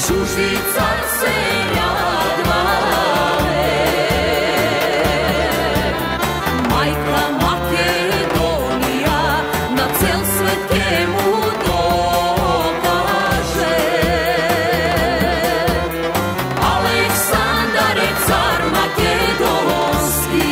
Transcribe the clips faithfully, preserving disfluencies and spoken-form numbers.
чужди цар се радвале. Мајка Македонија на цел свет ке му докаже. Александар е цар македонски.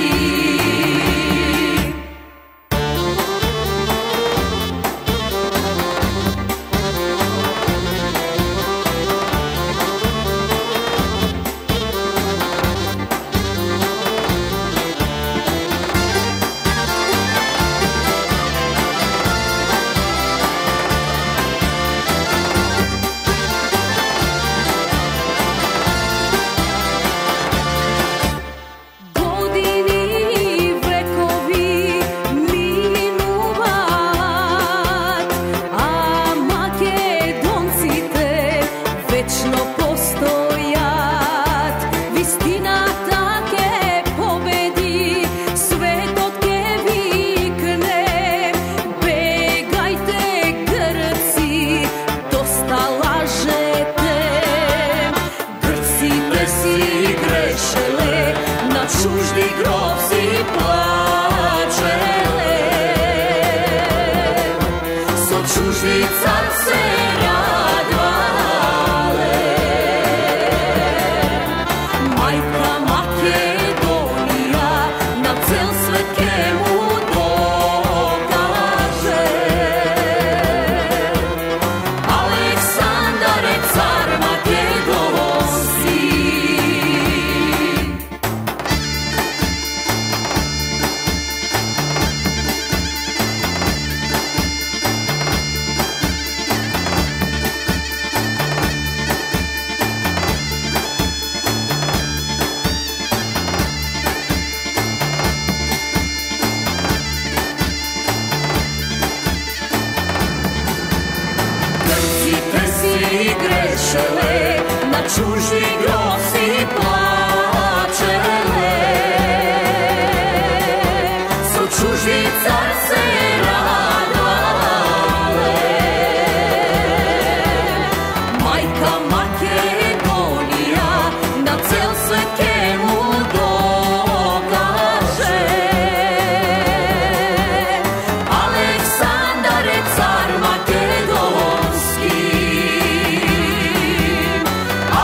Чужди гробци плачеле, со чужди цар се радвале. Мајка Македонија на цел свет ке му докаже. Александар е цар македонски. Грешеле, на чужди гробци плачеле, со чужди цар се радвале. Мајка Македонија на цел свет ке му докаже. Александар е цар македонски.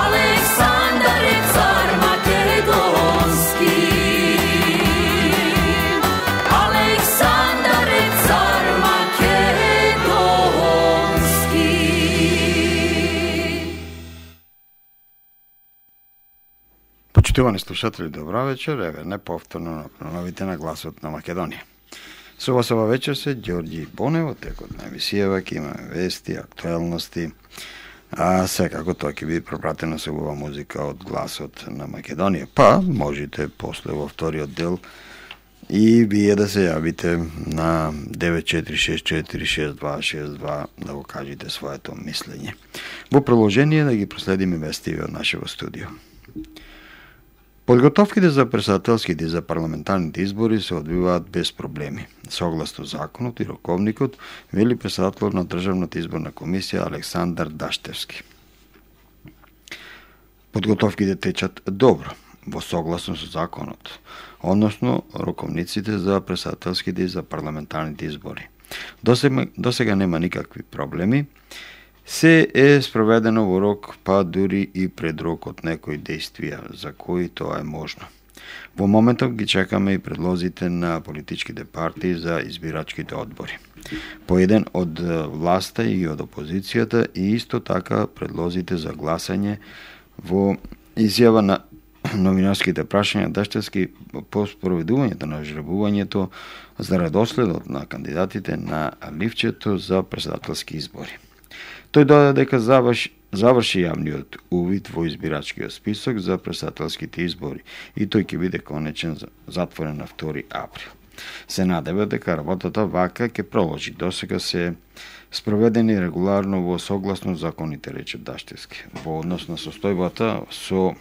Александар е цар македонски. Александар е цар македонски. Почитувани слушатели, добра вечер. Еве неповторно на новите на гласот на Македонија. Со вас ова вечер се Ѓорѓи Бонев, од текот на емисијава ќе имаме вести, актуелности, а секако тоа ќе биде пропратено со убава музика од гласот на Македонија. Па можете после во вториот дел и вие да се јавите на девет четири шест четири шест два шест два да го кажете своето мислење. Во приложение да ги проследиме вестиве од нашето студио. Подготовките за претседателските и за парламентарните избори се одвиваат без проблеми, согласно законот и роковникот, вели претседател на Државната изборна комисија Александар Даштевски. Подготовките течат добро, во согласно со законот, односно роковниците за претседателските и за парламентарните избори. Досега, досега нема никакви проблеми. Се е спроведено во рок, па дури и пред рок од некои действија, за кои тоа е можно. Во моментов ги чекаме и предлозите на политичките партии за избирачките одбори. По еден од власта и од опозицијата и исто така предлозите за гласање во изјава на новинарските прашања Даштевски по спроведувањето на жребувањето за редоследот на кандидатите на ливчето за претседателски избори. Тој додаде дека заврши, заврши јавниот увид во избирачкиот список за претседателските избори и тој ќе биде конечен затворен на втори април. Се надева дека работата вака ќе продолжи. Досега се спроведени регуларно во согласно законите, рече Даштевски. Во однос на состојбата со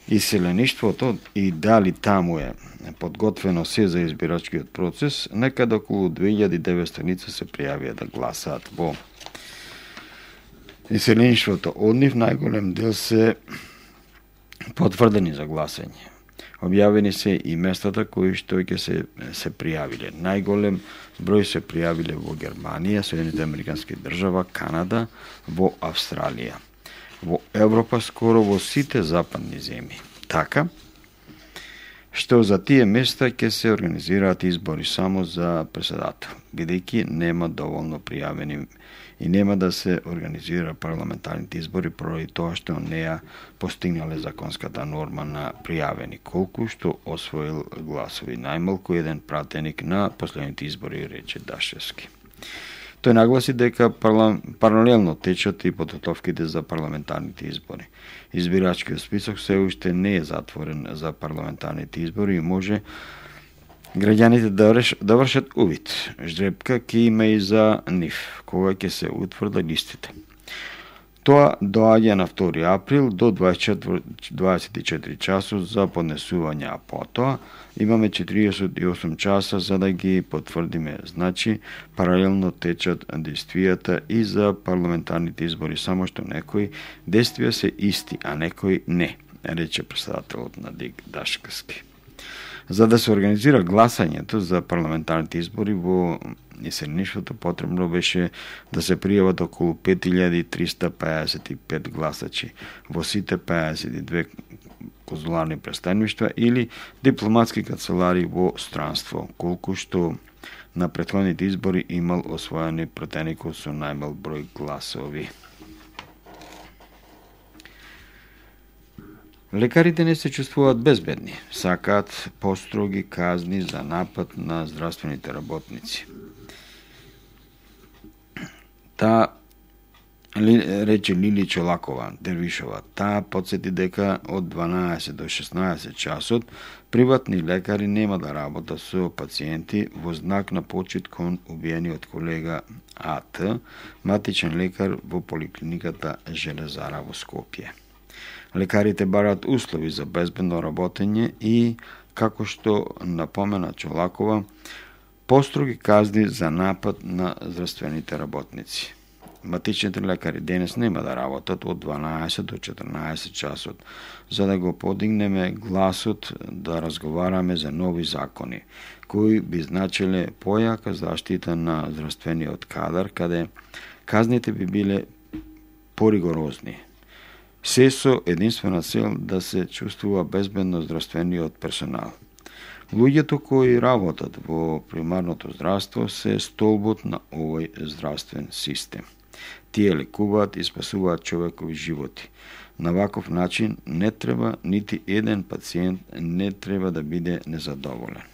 иселеништвото и дали таму е подготвено се за избирачкиот процес, некаде околу две илјади и деветстотини се пријавија да гласаат во Иселеништвото од нив најголем дел се потврдени за гласање. Објавени се и местата кои што ќе се се пријавиле. Најголем број се пријавиле во Германија, Соединените Американски држава, Канада, во Австралија. Во Европа скоро во сите западни земји. Така што за тие места ќе се организираат избори само за председател, бидејќи нема доволно пријавени и нема да се организира парламентарните избори поради тоа што не ја постигнале законската норма на пријавени, колку што освоил гласови најмалку еден пратеник на последните избори, рече Дашевски. Тој нагласи дека паралелно течат и подготовките за парламентарните избори. Избирачкиот список се уште не е затворен за парламентарните избори и може граѓаните да, реш, да вршат увид. Жребка ќе има и за нив, кога ќе се утврда листите. Тоа доаѓа на втори април до дваесет и четири часот за поднесување, а потоа имаме четиридесет и осум часа за да ги потврдиме. Значи, паралелно течат действијата и за парламентарните избори, само што некои действија се исти, а некои не, рече председателот на ДИК Дашевски. За да се организира гласањето за парламентарните избори во иселеништвото, потребно беше да се пријават околу пет илјади триста пеесет и пет гласачи во сите пеесет и две конзуларни представништва или дипломатски канцелари во странство, колку што на претходните избори имал освоени пратеникот со најмал број гласови. Лекарите не се чувствуваат безбедни, сакаат построги казни за напад на здравствените работници. Та рече Лили Чолакова, Дервишова, таа подсети дека од дванаесет до шеснаесет часот приватни лекари нема да работат со пациенти во знак на почит кон убиениот колега А Т, матичен лекар во поликлиниката Железара во Скопје. Лекарите бараат услови за безбедно работење и, како што напомена Чолакова, построги казни за напад на здравствените работници. Матичните лекари денес нема да работат од дванаесет до четрнаесет часот, за да го подигнеме гласот да разговараме за нови закони, кои би значеле појака заштита на здравствениот кадар, каде казните би биле поригорозни. Се со единствена цел да се чувствува безбедно здравствениот персонал. Луѓето кои работат во примарното здравство се столбот на овој здравствен систем. Тие лекуваат и спасуваат човекови животи. На ваков начин не треба нити еден пациент не треба да биде незадоволен.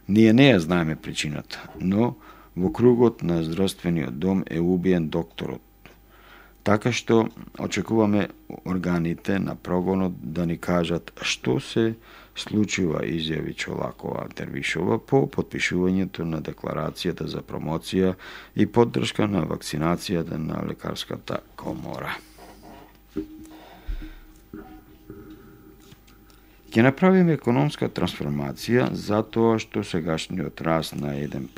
Ние не ја знаеме причината, но во кругот на здравствениот дом е убиен докторот. Така што очекуваме органите на прогонот да ни кажат што се случува, изјави Чолакова Дервишова по потпишувањето на декларацијата за промоција и поддршка на вакцинацијата на лекарската комора. Ќе направиме економска трансформација затоа што сегашниот раст на еден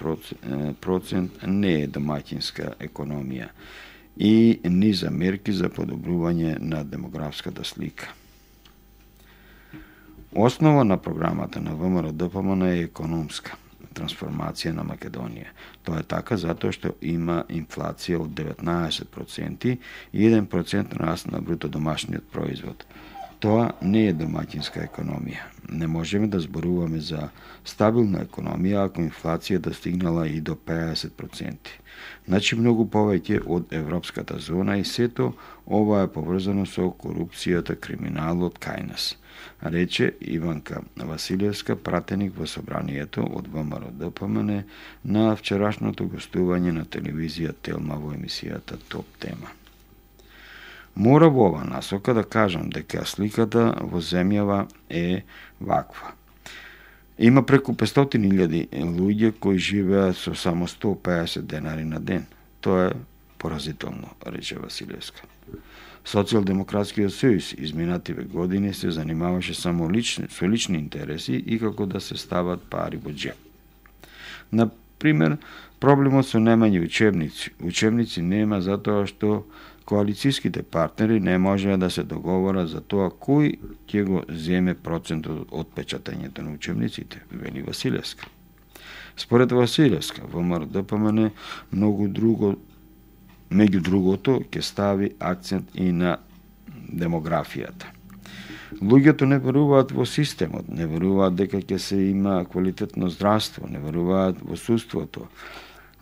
процент не е домаќинска економија и низа мерки за подобрување на демографската слика. Основа на програмата на ВМРО-ДПМН е економска трансформација на Македонија. Тоа е така затоа што има инфлација од деветнаесет проценти и еден процент раст на бруто домашниот производ. Тоа не е домаќинска економија. Не можеме да зборуваме за стабилна економија ако инфлацијата стигнала и до пеесет проценти. Значи многу повеќе од европската зона и сето ова е поврзано со корупцијата, криминалот кај нас, рече Иванка Василевска, пратеник во собранието од ВМРО-ДПМН на вчерашното гостување на телевизија Телма во емисијата Топ тема. Мора во ова насока да кажам дека сликата во земјава е ваква. Има преку петстотини илјади луѓе кои живеат со само сто пеесет денари на ден. Тоа е поразително, рече Василевска. Социјалдемократскиот сојуз изминативе години се занимаваше само лични, со лични интереси и како да се стават пари во џеб. Например, проблемот со немање учебници. Учебници нема затоа што коалицијските партнери не можеа да се договорат за тоа кој ќе го земе процентот од печатањето на учебниците, вели Василевска. Според Василевска, ВМРО-ДПМН многу друго, меѓу другото, ќе стави акцент и на демографијата. Луѓето не веруваат во системот, не веруваат дека ќе се има квалитетно здравство, не веруваат во судството.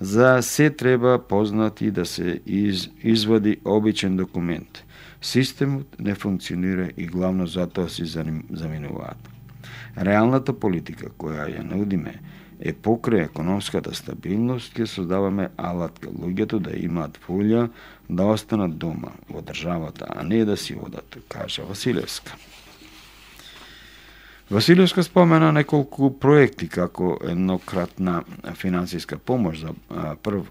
За се треба познати да се из, извади обичен документ. Системот не функционира и главно затоа си заминуваат. Реалната политика која ја нудиме е покрај економската стабилност, ќе создаваме алат кај луѓето да имаат волја да останат дома во државата, а не да си одат, кажа Василевска. Василевска спомена неколку проекти како еднократна финансиска помош за прв,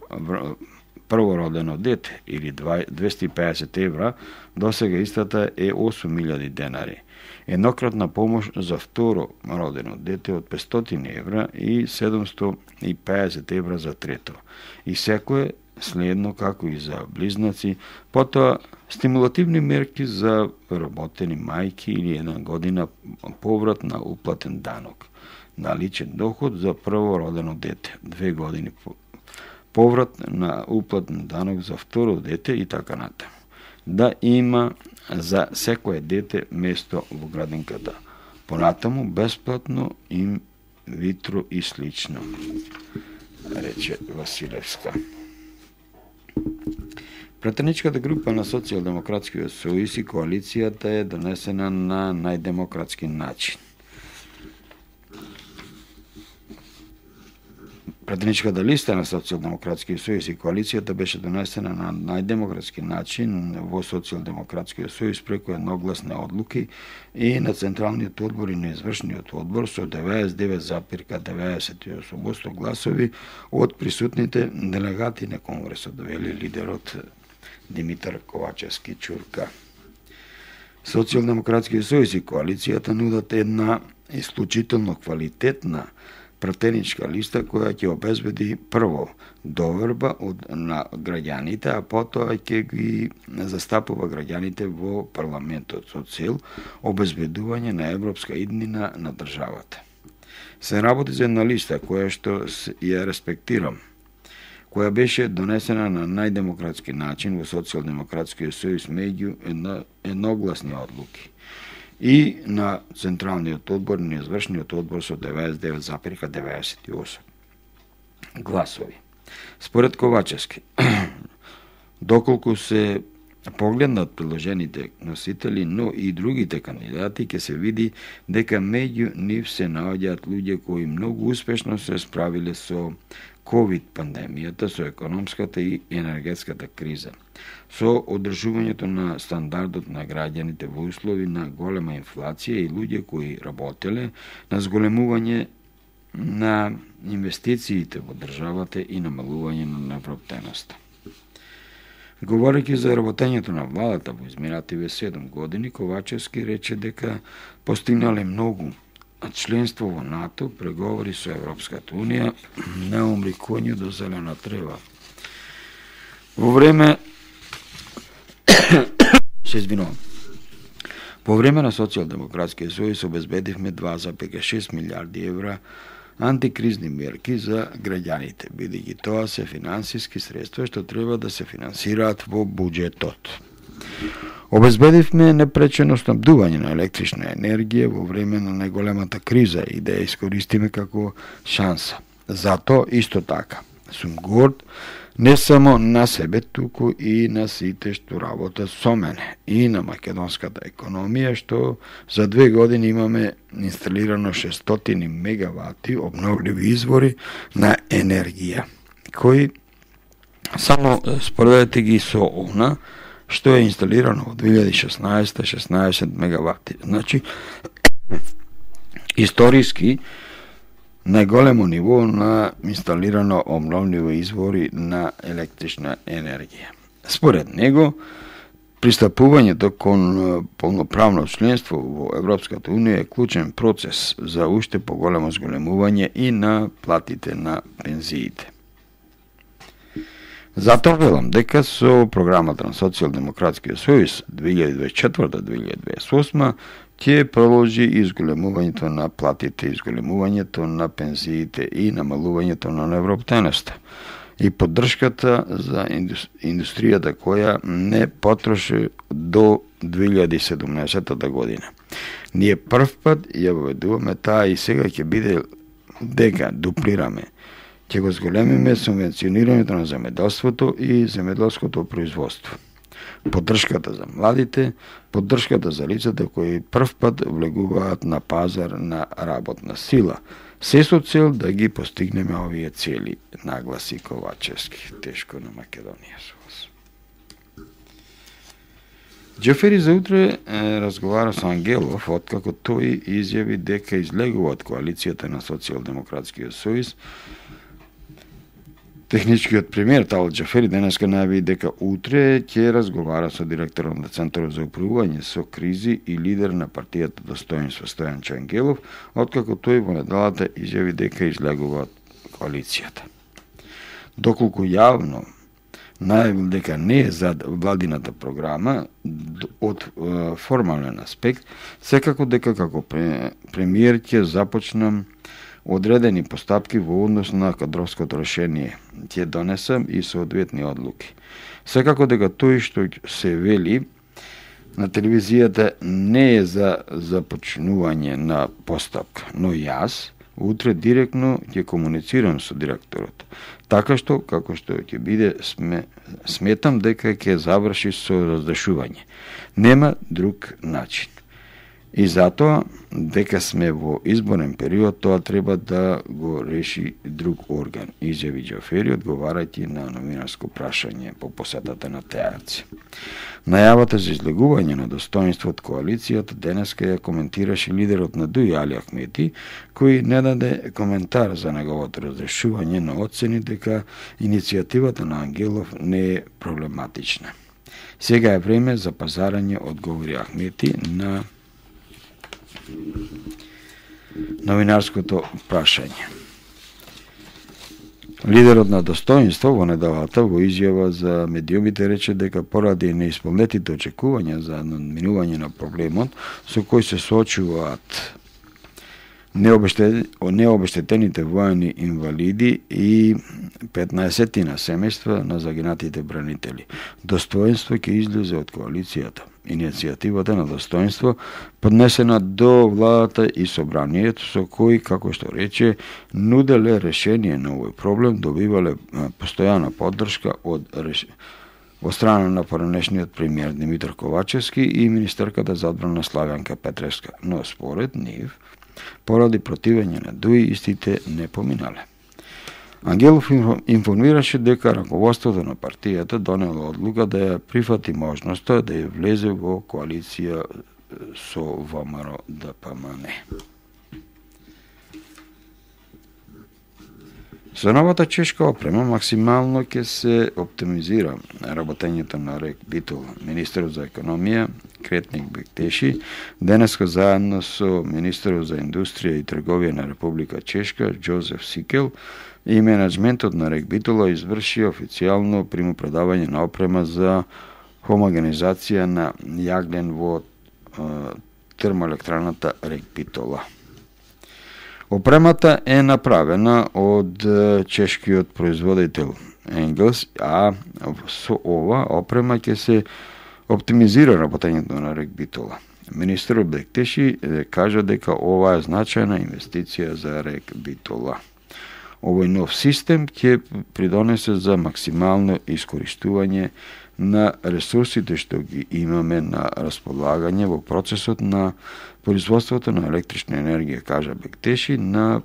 првородено дете или двесте и педесет евра, досега истата е осум илјади денари. Еднократна помош за второ родено дете од петстотини евра и седумстотини и педесет евра за трето. И секое следно како и за близнаци, потоа стимулативни мерки за работени мајки или една година поврат на уплатен данок на личен доход за првородено дете, две години поврат на уплатен данок за второ дете и така натаму. Да има за секое дете место во градинката. Понатаму бесплатно им витро и слично, рече Василевска. Пратеничката група на Социјалдемократскиот сојуз и коалицијата е донесена на најдемократски начин. Пратеничката листа на Социјалдемократскиот сојуз и коалицијата беше донесена на најдемократски начин во Социјалдемократскиот сојуз преку едногласни одлуки и на Централниот одбор и на Извршниот одбор со деветдесет и девет запирка деветдесет и осум гласови од присутните делегати на Конгресот, вели лидерот Димитар Ковачевски Чурка. Социјалдемократскиот сојуз и коалицијата нудат една исклучително квалитетна пратеничка листа која ќе обезбеди прво доверба од на граѓаните, а потоа ќе ги застапува граѓаните во парламентот со цел обезбедување на европска иднина на државата. Се работи за една листа која што ја респектирам, која беше донесена на најдемократски начин во Социјалдемократскиот сојуз меѓу едно, едногласни одлуки и на Централниот одбор и на Извршниот одбор со деветдесет и девет запирка деветдесет и осум гласови. Според Ковачевски, доколку се погледнат приложените носители, но и другите кандидати, ќе се види дека меѓу нив се наоѓаат луѓе кои многу успешно се справиле со ковид пандемијата, со економската и енергетската криза, со одржувањето на стандардот на граѓаните во услови на голема инфлација и луѓе кои работеле на зголемување на инвестициите во државата и намалување на невработеноста. Говорејќи за работењето на владата во изминативе седум години, Ковачевски рече дека постигнале многу, а членство во НАТО, преговори со Европската унија, неумри коњу до зелена трева. Во време се извинувам. По време на Социјалдемократскиот сојуз обезбедивме два запирка шест милиарди евра антикризни мерки за граѓаните, бидејќи тоа се финансиски средства што треба да се финансираат во буџетот. Обезбедивме непречено снабдување на електрична енергија во време на најголемата криза и да ја искористиме како шанса. Зато, исто така, сум горд не само на себе, туку и на сите што работат со мене и на македонската економија, што за две години имаме инсталирано шестстотини мегавати обновливи извори на енергија, кои само споредете ги со она што е инсталирано во две илјади и шеснаесета шеснаесет мегавати. Значи, историски најголемо ниво на инсталирано обновливи извори на електрична енергија. Според него, пристапувањето кон полноправно членство во Европската унија е клучен процес за уште поголемо зголемување и на платите на пензиите. Затоа велам дека со програмата на Социјалдемократскиот сојуз две илјади дваесет и четврта - две илјади дваесет и осма ќе продолжи изголемувањето на платите, изголемувањето на пензиите и намалувањето на неработеноста и поддршката за индустријата која не потроши до две илјади и седумнаесетта година. Ние прв пат ја воведуваме таа и сега ќе биде дека дуплираме. Ќе го зголемиме субвенционирањето на земеделството и земеделското производство. Поддршката за младите, поддршката за лицата кои прв пат влегуваат на пазар на работна сила, се со цел да ги постигнеме овие цели, нагласи Ковачевски. Тешко на Македонија со вас. Џефери за утре е, разговара со Ангелов, откако тој изјави дека излегува од коалицијата на Социјалдемократскиот сојуз. Техничкиот премиер Талат Џефери денеска најави дека утре ќе разговара со директорот на Центарот за управување со кризи и лидер на партијата Достоинство Стојан Ангелов, откако тој во неделата изјави дека излегува од коалицијата. Доколку јавно најавил дека не е за владината програма од е, формален аспект, секако дека како премиер ќе започнам одредени постапки во однос на кадровското решение, ќе донесам и соодветни одлуки. Секако дека тој што се вели на телевизијата не е за започнување на постапка, но јас утре директно ќе комуницирам со директорот, така што, како што ќе биде, сме, сметам дека ќе заврши со разрешување. Нема друг начин. И затоа, дека сме во изборен период, тоа треба да го реши друг орган, изјави Џефери, одговарајќи на новинарско прашање по посетата на Теарци. Најавата за излегување на Достоинство од коалицијата денеска ја коментираше лидерот на Дуј Али Ахмети, кој не даде коментар за неговото разрешување, но оцени дека иницијативата на Ангелов не е проблематична. Сега е време за пазарање, одговори Ахмети на новинарското прашање. Лидерот на Достоинство во неделата во изјава за медиумите рече дека поради неисполнетите очекувања за надминување на проблемот со кој се соочуваат необештетените воени инвалиди и петнаесеттина семејства на загинатите бранители, Достоинство ќе излезе од коалицијата. Иницијативата на Достоинство поднесена до владата и собранието, со кој, како што рече, нуделе решение на овој проблем, добивале постојана поддршка од реш... од страна на поранешниот премиер Димитар Ковачевски и министерката за одбрана Славјанка Петревска, но според нив, поради противење на Дуј, истите не поминале. Ангелов информираше дека раководството на партијата донело одлука да ја прифати можноста да ја влезе во коалиција со ВМРО Д П М Н. Со новата чешка опрема максимално ќе се оптимизира работењето на РЕК Битол. Министерот за економија Кретник Бектеши денеска заедно со министерот за индустрија и трговија на Република Чешка Џозеф Сикел и менеджментот на РЕК Битола изврши официјално примопредавање на опрема за хомогенизација на јаглен во е, термоелектраната РЕК Битола. Опремата е направена од чешкиот производител Енгелс, а со ова опрема ќе се оптимизира работењето на РЕК Битола. Министерот Бектеши кажа дека ова е значајна инвестиција за РЕК Битола. Овој нов систем ќе придонесе за максимално искористување на ресурсите што ги имаме на располагање во процесот на производството на електрична енергија, кажа Бектеши, на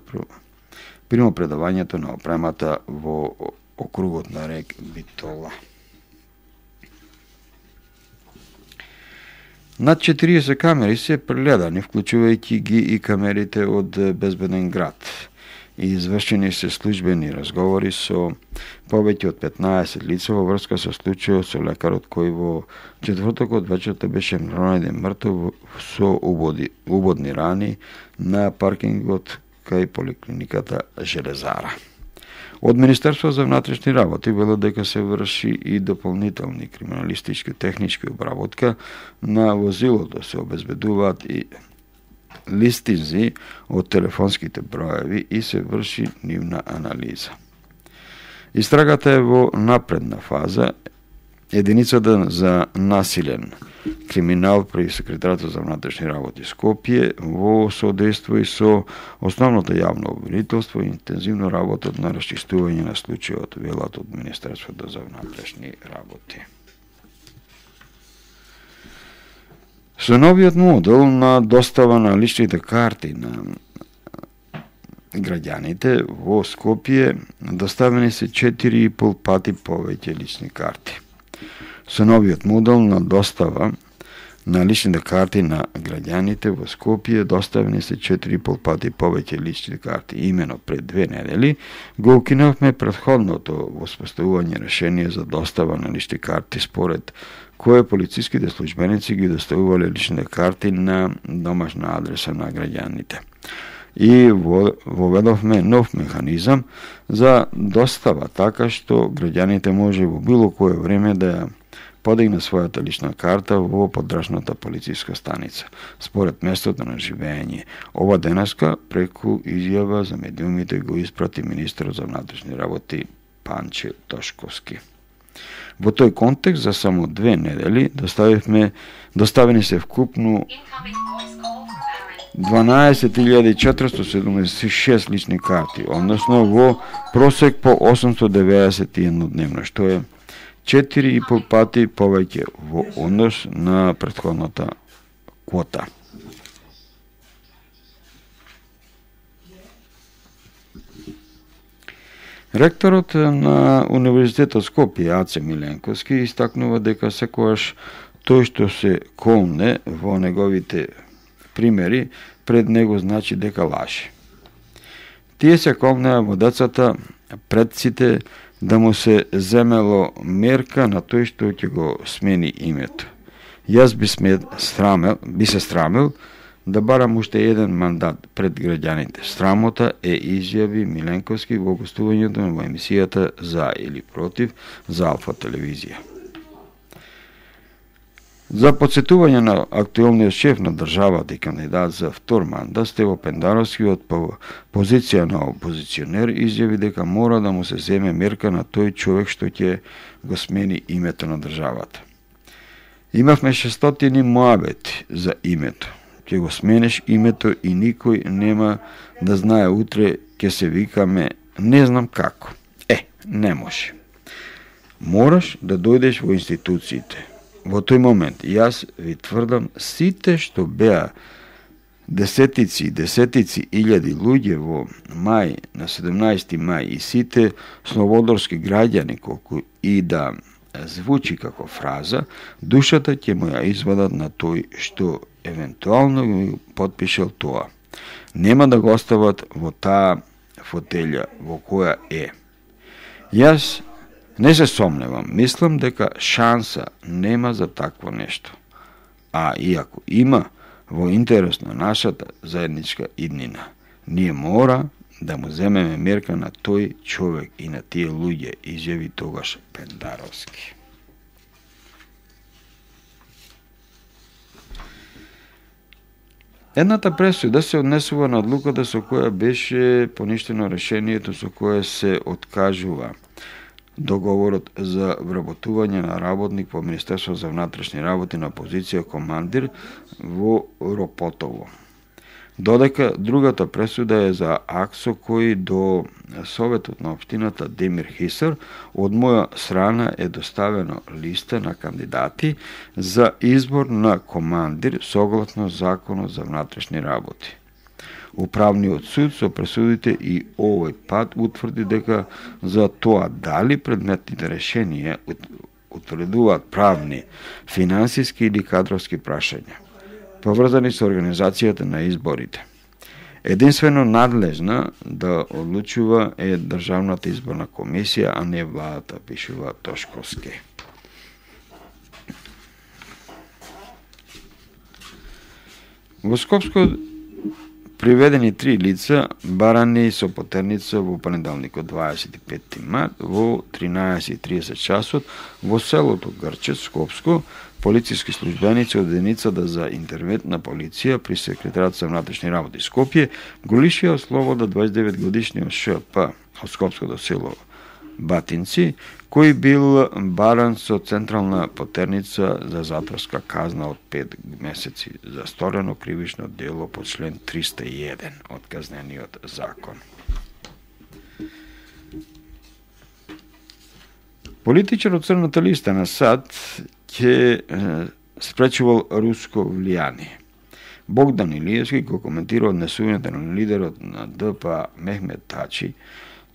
примопредавањето на опремата во округот на РЕК Битола. Над четириесет камери се прегледани, вклучувајќи ги и камерите од Безбеден град. И извршени се службени разговори со повеќе од петнаесет лица во врска со случајот со лекарот кој во четвртокот вечерта беше најден мртов со убоди, убодни рани на паркингот кај поликлиниката Железара. Од Министерство за внатрешни работи велат дека се врши и дополнителни криминалистички технички обработка на возилото, се обезбедуваат и листинзи од телефонските броеви и се врши нивна анализа. Истрагата е во напредна фаза. Единицата за насилен криминал при Секретаријатот за внатрешни работи Скопје во содейство и со основното јавно обвинителство и интензивно работат на расчистување на случајот, велат од Министерството за внатрешни работи. Со новиот модел на достава на личните карти на граѓаните во Скопје доставени се четири и пол пати повеќе лични карти. Со новиот модел на достава на личните карти на граѓаните во Скопје доставени се четири и пол пати повеќе лични карти. Имено пред две недели го укинавме претходното воспоставување решение за достава на лични карти, според кое полициските службеници ги доставувале личните карти на домашна адреса на граѓаните. И воведовме нов механизам за достава, така што граѓаните може во било кое време да ја подигне својата лична карта во подрачната полициска станица, според местото на живење. Ова денеска преку изјава за медиумите го испрати министерот за внатрешни работи Панче Тошковски. Во тој контекст за само две недели доставивме доставени се вкупно дванаесет илјади четиристотини седумдесет и шест лични карти, односно во просек по осумстотини деведесет и едно дневно, што е четири и пол пати повеќе во однос на претходната квота. Ректорот на Универзитетот Скопје, Аце Миленковски, истакнува дека секогаш тој што се колне во неговите примери пред него значи дека лаже. Тие се колнеа во децата, предците, да му се земело мерка на тој што ќе го смени името. Јас би, сме, страмел, би се страмел да барам уште еден мандат пред граѓаните. Срамота е, изјави Миленковски во гостувањето во емисијата За или Против за Алфа телевизија. За подсетување на актуелниот шеф на државата и кандидат за втор мандат, Стево Пендаровски од позиција на опозиционер изјави дека мора да му се земе мерка на тој човек што ќе го смени името на државата. Имавме шестстотини моабети за името. Ќе го сменеш името и никој нема да знае утре ќе се викаме не знам како. Е, не може. Мораш да дојдеш во институциите. Во тој момент јас ви тврдам, сите што беа десетици и десетици илјади луѓе во мај, на седумнаесети мај, и сите слободорски граѓани, колку и да звучи како фраза, душата ќе му ја извадат на тој што евентуално го потпишел тоа. Нема да го остават во таа фотелја во која е. Јас не се сомневам, мислам дека шанса нема за такво нешто. А иако има, во интерес на нашата заедничка иднина, ние мора да му земеме мерка на тој човек и на тие луѓе, изјави тогаш Пендаровски. Едната пресуда се однесува на одлуката со која беше поништено решението со кое се откажува договорот за вработување на работник во Министерство за внатрешни работи на позиција командир во Ропотово. Додека другата пресуда е за акт со кој до Советот на општината Демир Хисар од моја страна е доставено листа на кандидати за избор на командир согласно Законот за внатрешни работи. Управниот суд со пресудите и овој пат утврди дека за тоа дали предметните решенија утврдуваат правни, финансиски или кадровски прашања, поврзани со организацијата на изборите. Единствено надлежна да одлучува е Државната изборна комисија, а не владата, пишува Тошковски. Во Скопско приведени три лица барани со потерница во понеделникот дваесет и петти март во тринаесет и тридесет часот во селото Грчец, Скопско. Полициски службеници од единицата за интервентна полиција при секретарот за внатрешни работи Скопје го лишија слобода дваесет и девет годишниот ШП од скопското село Батинци, кој бил баран со централна потерница за затворска казна од пет месеци за сторено кривично дело по член триста и еден од Казнениот закон. Политичар од Црната листа на САД ќе спречувал руско влијание. Богдан Илиевски го коментира однесувањето на лидерот на ДП Мехмет Тачи.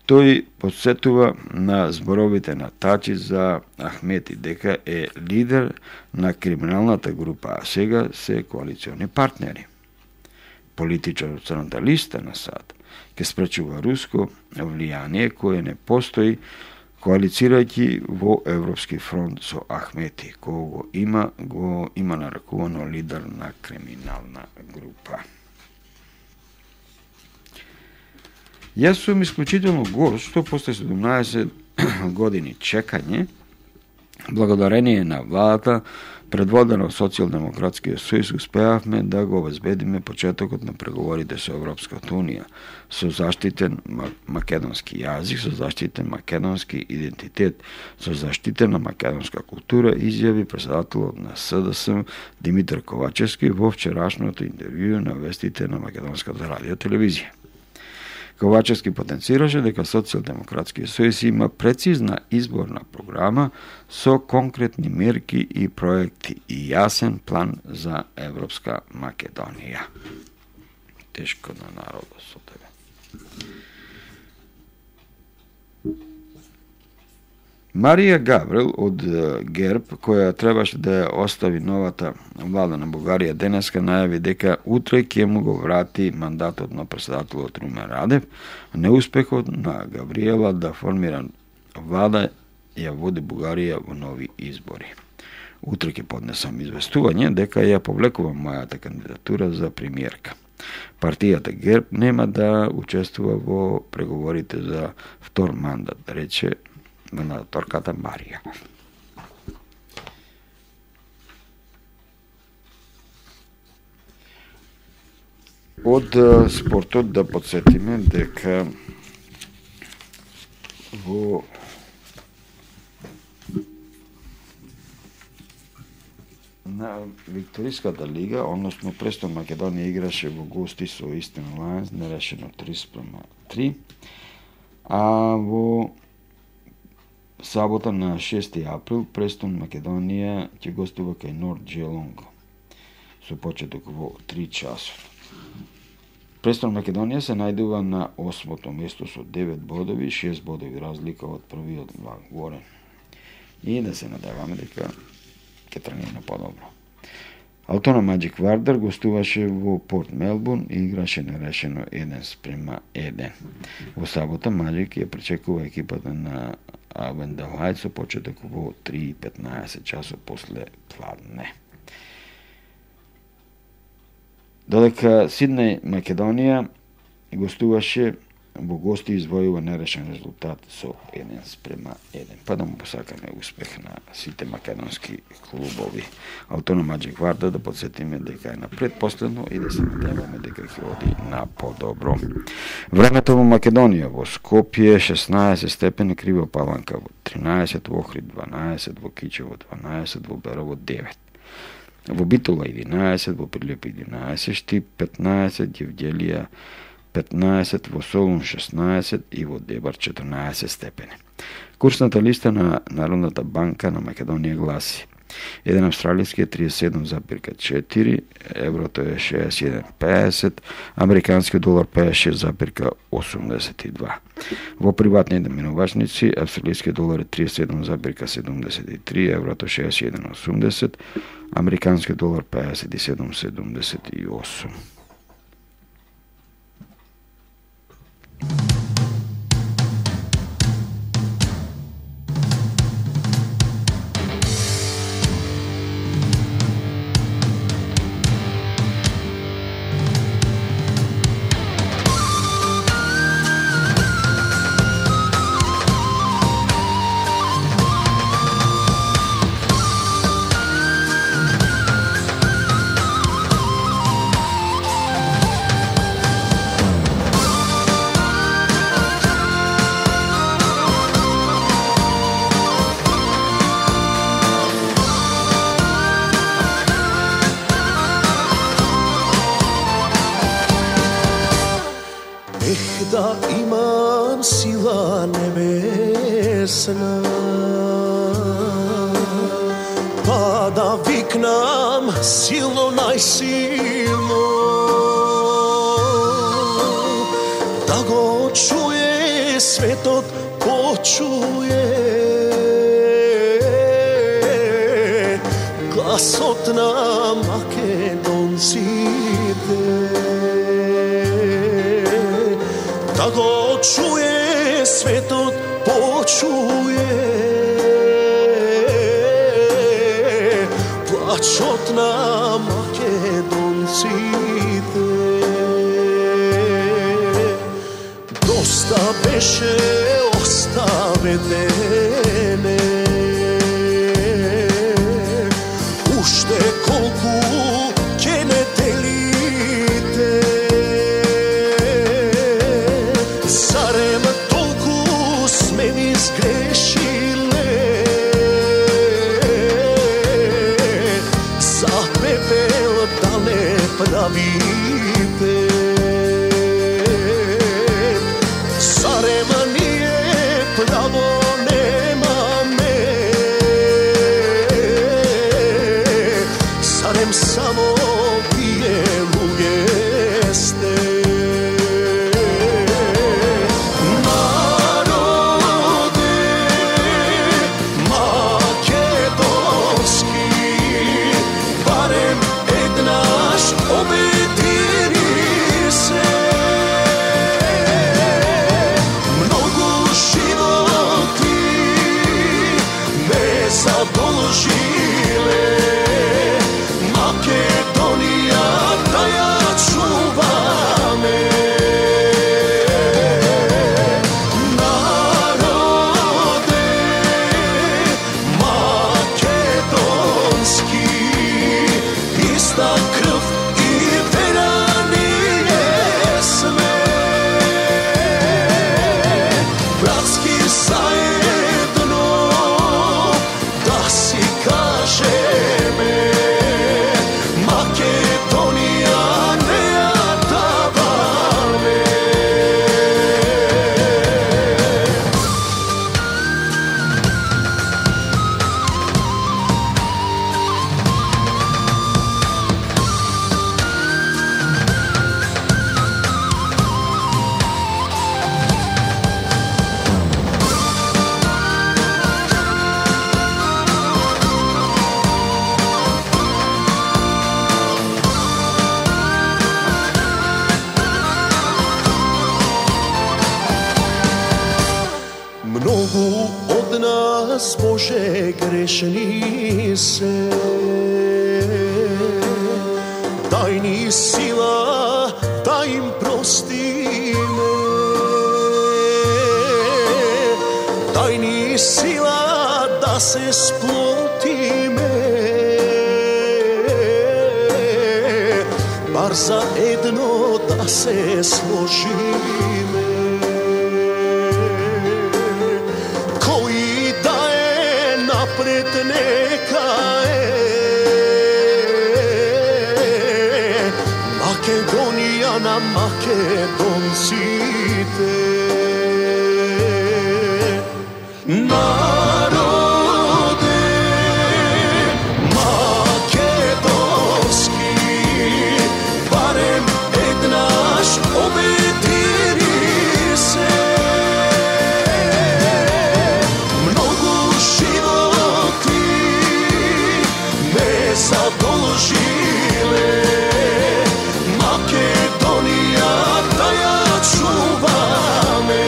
Тој подсетува на зборовите на Тачи за Ахмети дека е лидер на криминалната група, а сега се коалициони партнери. Политичар од Црната листа на САД ќе спречува руско влијание кое не постои, коалицирајќи во Европски фронт со Ахмети, кој го има, го има нарекувано лидер на криминална група. Јас сум исклучително горд што после седумнаесет години чекање, благодарение на владата, предводена од Социјалдемократскиот сојуз, успеавме да го обезбедиме почетокот на преговорите со Европската унија, со заштитен македонски јазик, со заштитен македонски идентитет, со заштитена македонска култура, изјави претседателот на СДСМ Димитар Ковачевски во вчерашното интервју на вестите на Македонската радио телевизија. Ковачевски потенцираше дека Социјалдемократскиот сојуз има прецизна изборна програма со конкретни мерки и проекти и јасен план за Европска Македонија. Тешко на народот со тебе. Марија Гаврил од ГЕРБ, која требаше да ја остави новата влада на Бугарија денеска, најави дека утре ќе му го врати мандатот на претседателот Румен Радев. Неуспехот на Гавриела да формира влада ја води Бугарија во нови избори. Утре ќе поднесам известување дека ја повлекувам мојата кандидатура за премиерка. Партијата ГЕРБ нема да учествува во преговорите за втор мандат, рече мандатарката Марија. Од спортот да подсетиме дека во на Викториската лига, односно Престон Македонија играше во гости со Истин Лајнс, нерешено три спрема три, а во сабота на шести април Престон Македонија ќе гостува кај Норд Джелонг со почеток во три часот. Престон Македонија се најдува на осмото место со девет бодови, шест бодови разлика од првиот Горен. И да се надеваме дека ќе тргне на подобро. Алтона Маџик Вардар гостуваше во Порт Мелбурн и играше нерешено еден спрема еден. Во сабота Маџик ја пречекува екипата на Авендалајд со почеток во три и петнаесет часот после пладне. Додека Сиднеј Македонија гостуваше во гости извојува нерешен резултат со еден спрема еден. Па да му посакаме успех на сите македонски клубови. Алтона Маџик Вардар да подсетиме дека е на предпоследно и да се надеваме дека ќе оди на подобро. Времето во Македонија, во Скопје шеснаесет степени, Крива Паланка во тринаесет, во Охрид дванаесет, во Кичево дванаесет, во Берово девет. Во Битола единаесет, во Прилеп единаесет, Штип петнаесет, Јевѓелија петнаесет, во Солун шеснаесет и во Дебар четрнаесет степени. Курсната листа на Народната банка на Македонија гласи: еден австралиски е триесет и седум зарез четири, еврото е шеесет и еден зарез педесет, американски долар педесет и шест зарез осумдесет и два. Во приватните минувачници австралиски долар е триесет и седум зарез седумдесет и три, еврото шеесет и еден зарез осумдесет, американски долар педесет и седум зарез седумдесет и осум. Доста имам сила небесна, па да викнам силно, најсилно, да го чуе светот, почуе гласот на македонците, да го чуе светот, почуе плачот на македонците. Доста беше, оставете ме, уште колку ќе не делите, зарем толку сме ви сгрешиле, за пепел да не правите, зарем ние право немаме, зарем само вие луѓе сте. Народе македонски, барем еднаш обедини се, многу животи ме задолжиле, Македонија да ја чуваме. Народе македонски, иста крв и вера ние сме, братски заедно да си кажеме, Македонија не ја даваме. Многу од нас, Боже, грешни се, дај ни сила да им простиме, дај ни сила да се сплотиме, бар за едно да се сложиме. Кој да е напред нека е, Македонија на македонците. Народе македонски, барем еднаш обедини се, многу животи ме задолжиле, Македонија да ја чуваме.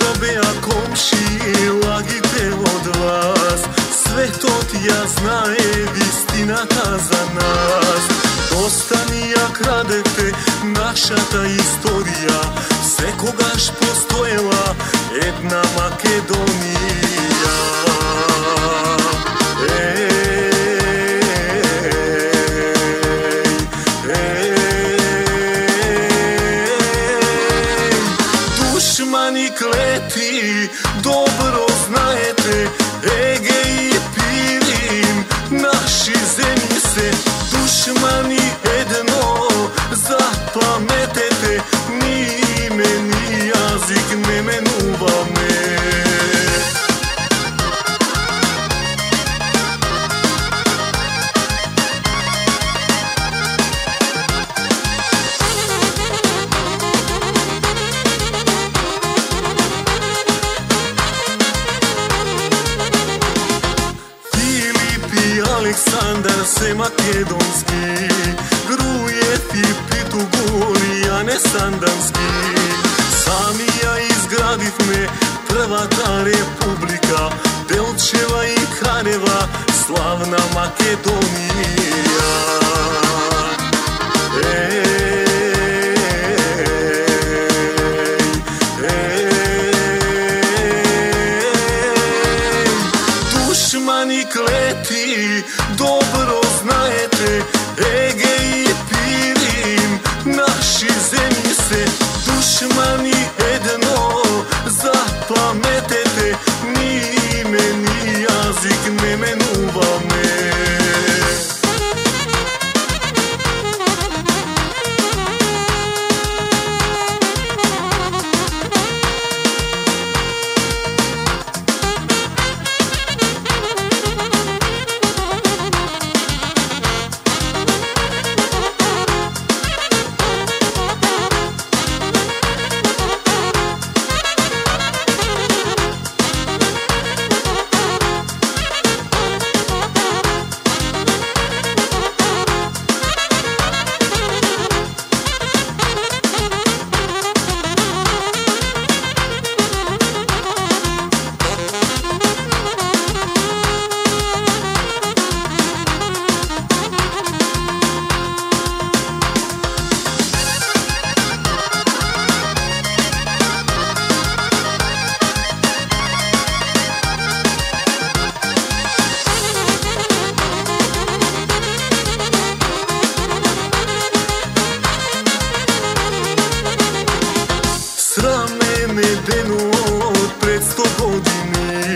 што беа комши лагите од вас, светот ја знае вистината за нас. Доста ни ја крадете нашата историја, секогаш постоела една Македонија. Душмани клети, добро знаете, Еге и Пирин, наши земји се. Душмани едно, запаметете, ни име, ни јазик не менуваме. Александар се македонски, Грујев и Питугур Јане Сандански. Сами ја изградивме првата република, Делчева и Канева, славна Македонија. Душмани клети, добро знаете, Еге и Пирин, наши земји се. Душмани едно, запаметете, ни име, ни јазик не менуваме. Срамене денот пред сто години,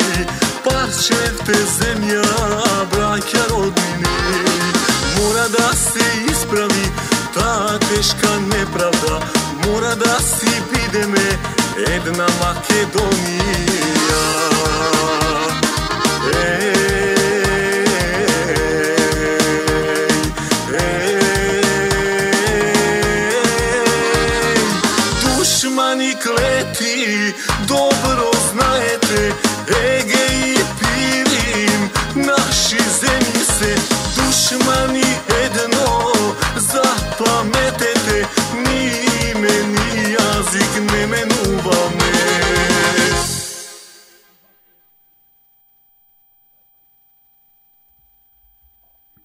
парчевте земја, браќа роднини. Мора да се исправи таа тешка неправда, мора да си бидеме една Македонија. Душмани клети, добро знаете, Еге и Пирин, наши земји се. Душмани едно, запаметете, ни име, ни јазик не менуваме.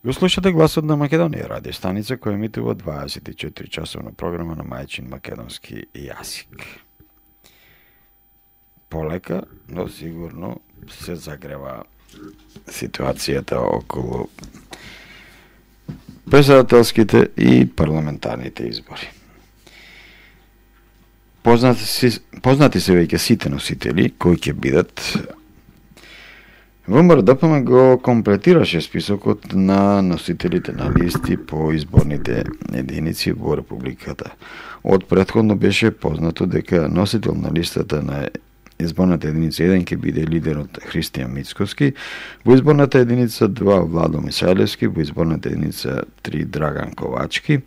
Го слушате Гласот на Македонија, радио станица која емитува дваесет и четири часовна програма на мајчин македонски јазик. Полека, но сигурно се загрева ситуацијата околу претседателските и парламентарните избори. Познати, си, познати се веќе сите носители кои ќе бидат. ВМРО-ДПМ го комплетираше списокот на носителите на листи по изборните единици во Републиката. Од претходно беше познато дека носител на листата на изборната единица еден ќе биде лидерот Христијан Мицкоски, во изборната единица два Владо Мисајлевски, во изборната единица три Драган Ковачки,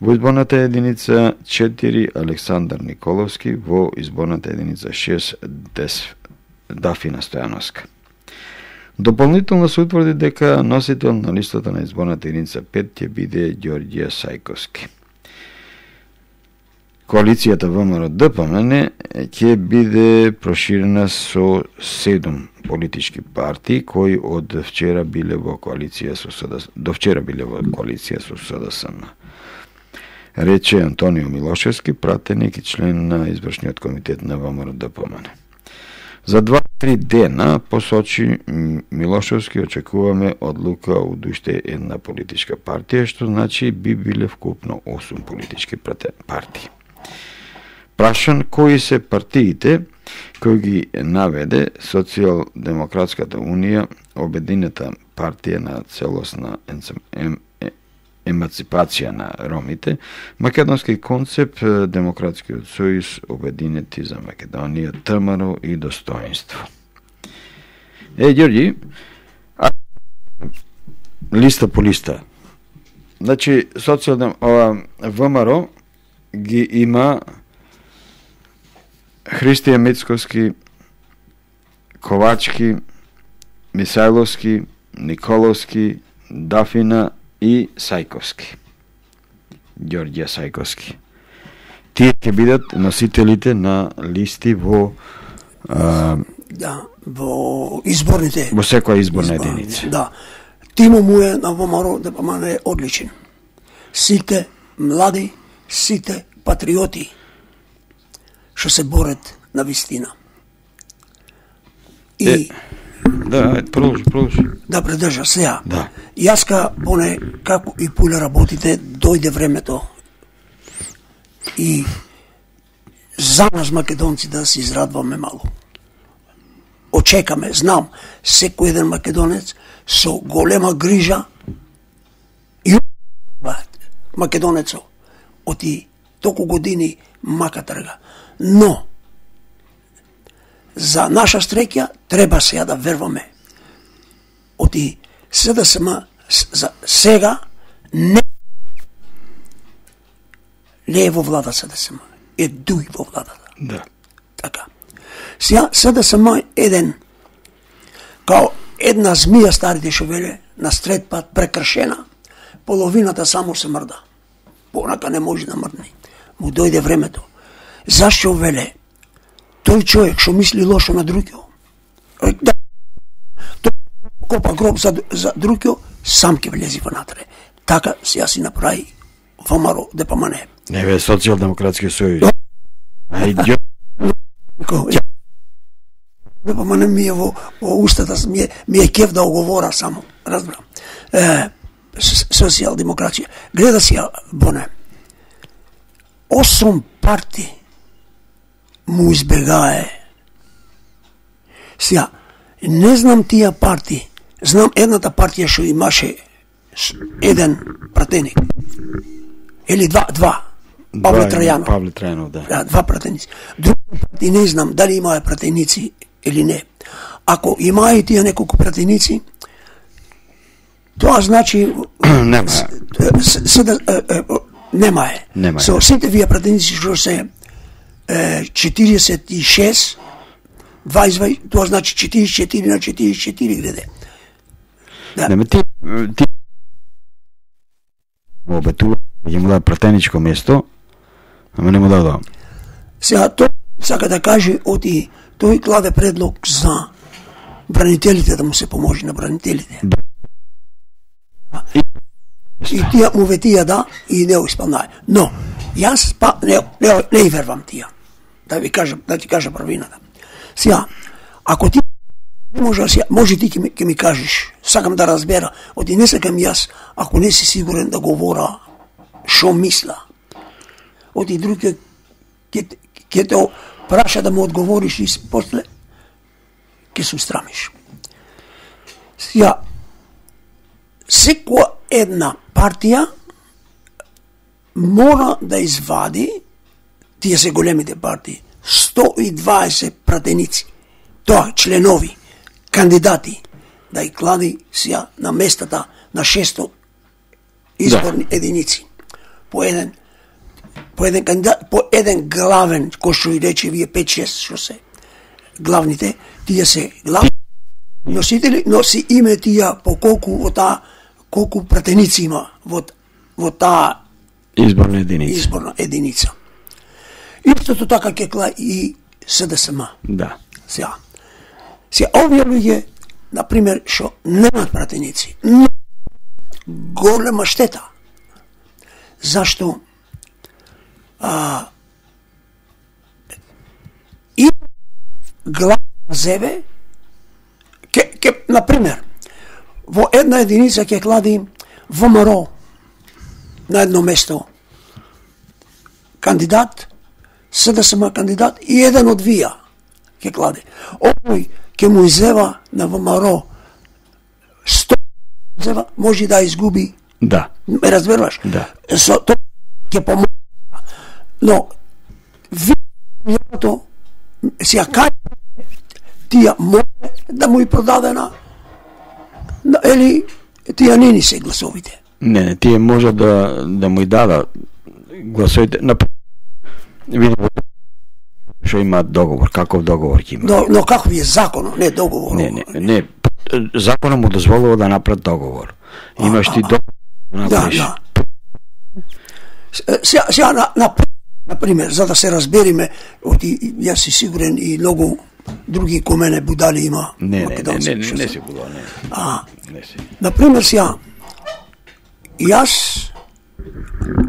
во изборната единица четири Александар Николовски, во изборната единица шест Дафина Стојановска. Дополнително се утврди дека носител на листата на изборната единица пет ќе биде Ѓорѓе Сајковски. коалицијата ВМРО-ДПМН ќе биде проширена со седум политички партии кои од вчера биле во коалиција со СДС, до вчера биле во коалиција со СДСМ. Рече Антонио Милошевски, пратеник и член на извршниот комитет на ВМРО-ДПМН. За два-три дена, посочи Милошевски, очекуваме одлука од уште една политичка партија, што значи би биле вкупно осум политички партии. Прашан кои се партиите кои ги наведе Социјалдемократската унија, Обединета партија на целосна емаципација на ромите, Македонски концепт, Демократскиот сојуз, Обединети за Македонија, ТМРО и Достоинство. Е, Ѓорѓи, а... листа по листа. Значи, социјалдем... ВМРО ги има Христија Мицковски, Ковачки, Мисајловски, Николовски, Дафина и Сајковски. Ѓорѓе Сајковски. Тие ќе бидат носителите на листи во а, да, во изборните во секоја изборна единица. Да. Тимо му е на ВМРО-ДПМН е одличен. Сите млади, сите патриоти што се борат на вистина. И е, да, продолжи, продолжи. Да предржа сега. Да. Јаска поне како и пуле работите, дојде времето и за нас македонци да се израдваме мало. Очекаме, знам, секој еден македонец со голема грижа и македонецо оти толку години мака трга. Но за наша среќа треба сега да верваме. Оти СДСМ за сега не не е во влада СДСМ, е дуи во владата. Да. Така. Сега СДСМ еден као една змија старите што веле на стрет пат прекршена, половината само се мрда. Понака не може да мрдне. Му дојде времето. Зашто веле тој човек што мисли лошо на другиот, да, тој копа гроб за, за другиот, сам ќе влези внатре. Така сега си направи ВМРО-ДПМН. Не бе, Социјалдемократски сојуз. Ајде. ДПМН ми е во, во устата, ми е, ми е кеф да оговора само, разбрам. Е, социјалдемократија. Гледа сега, Боне, осум партии му избегае. Сега, не знам тие партии, знам едната партија што имаше еден пратеник, или два, два, Павле Трајанов. Павле Трајанов, да. Да, два пратеници. Други партии не знам дали имаа пратеници или не. Ако имаа и тие неколку пратеници, тоа значи нема. Нема е. Нема е. Со сите вие пратеници што се четириесет и шест, дваесет, тоа значи четириесет и четири на четириесет и четири гледе. Да. Нема ти ти обетува ќе му даде пратеничко место, ама не му дадоа. Сега тој сака да каже оти тој кладе предлог за бранителите, да му се поможи на бранителите. Да. И, и тие му ветија да и не исполнае. Но јас па не не, не вервам тие. Да ви кажам, да ти кажа правината. Сега, ако ти може сега, може ти ќе ми, ќе ми кажеш, сакам да разбера, оти не сакам јас, ако не си сигурен да говора шо мисла. Оти други ќе ќе те праша да му одговориш и после ќе се устрамиш. Сега, секоја една партија мора да извади, тие се големите партии, сто и дваесет пратеници, тоа членови, кандидати, да ги клади сега на местата на шесто изборни да. единици. По еден по еден кандидат, по еден главен, кој што и рече вие пет-шест што се главните, тие се главни носители, носи име тие по колку во таа колку пратеници има во во таа изборна единица. Изборна единица. Истото така ќе кла и С Д С М. Да. Сега. Сега, овие луѓе, например, што немаат пратеници, но голема штета. Зашто а, и глава зебе, ке, ке, например, во една единица ќе клади В М Р на едно место кандидат, С Д С М кандидат и еден од вија ќе клади. Овој ќе му изева на В М Р сто изева, може да изгуби. Да. Ме разбираш? Да. Со тоа ќе помогне. Но вијато сега кај тие може да му и продадена или тие не ни се гласовите. Не, не, тие може да да му и дадат гласовите. На видимо што има договор, каков договор ќе има. Но, но каков е законот, не договор. Не, не, не, законот му дозволува да направи договор. Имаш ти договор да направиш. Да, да. Сега, сега на, на, на пример, за да се разбериме, оти, јас си сигурен и многу други ко мене будали има. Не, не, не, македонци, не, не, што не се- си будал, не. А, Не си. на пример, сега, јас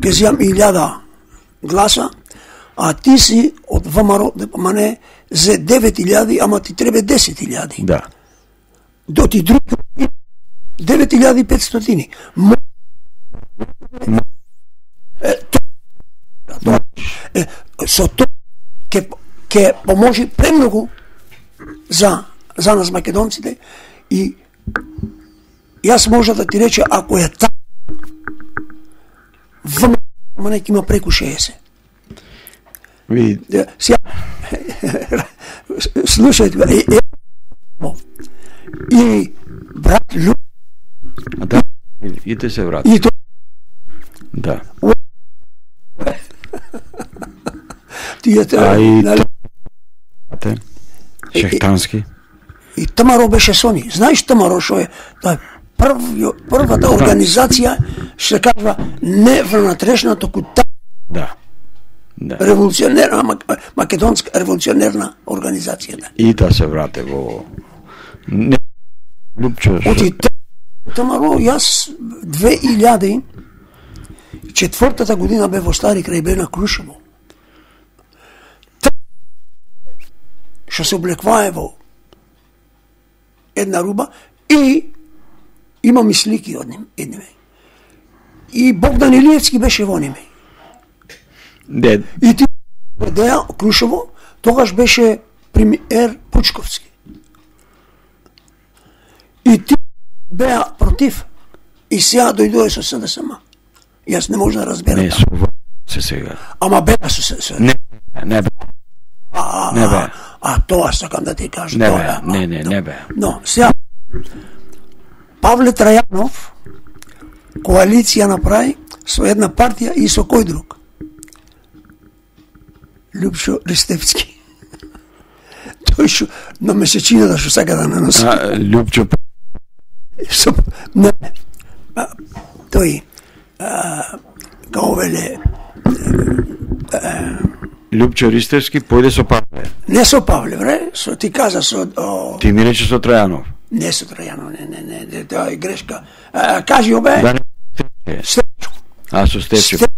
ќе земам илјада гласа, а ти си од В М Р, ама не, за девет илјади, ама ти треба десет илјади. Да. До ти други девет илјади и петстотини. Мо- Е, то- тоа- е, со тоа ќе ќе поможи премногу за за нас македонците и јас може да ти рече ако е така В М Р не ќе има преку шеесет. Ви, Е, Сега слушајте ме, е, е, и брат Лю а да, и те се врати. и тоа Да. тие А и нали, те Шехтански. и Тамаро беше со ни. Знаеш Тамаро што е? Тоа е прв, првата организација што се кажува не внатрешна, току та Да. Да. револуционерна мак- македонска револуционерна организација. Да. И да се врате во не Лупчо. Оти Тамаро, јас две илјади и четвртата година бе во Стари крај бе на Крушево. Та- Што се облеквае во една руба и имам и слики од ним, од ними. И Богдан Илиевски беше во ними. Не, И ти Деја Крушево, тогаш беше премиер Пучковски. И ти беа против. И сега дојдоа со С Д С М. Јас не можам да разберам. не со се сега. Ама беа со С Д С М. Не, не бе. А, не бе. а, а тоа сакам да ти кажам. Не тоа бе, е, а, не, не, да. не бе. Но, сега Павле Трајанов коалиција направи со една партија и со кој друг? Лјупшо Ристевски. Тој што на месечината што сака да наноси. А, Лупчо Со, не, а, тој а, као веле Лупчо Ристевски појде со Павле. не со Павле, бре, со ти кажа со о, Ти ми рече со Трајанов. не со Трајанов, не, не, не, не, тоа е грешка. А, кажи обе, Да не. Стефчо. А со Стефчо. Стеф-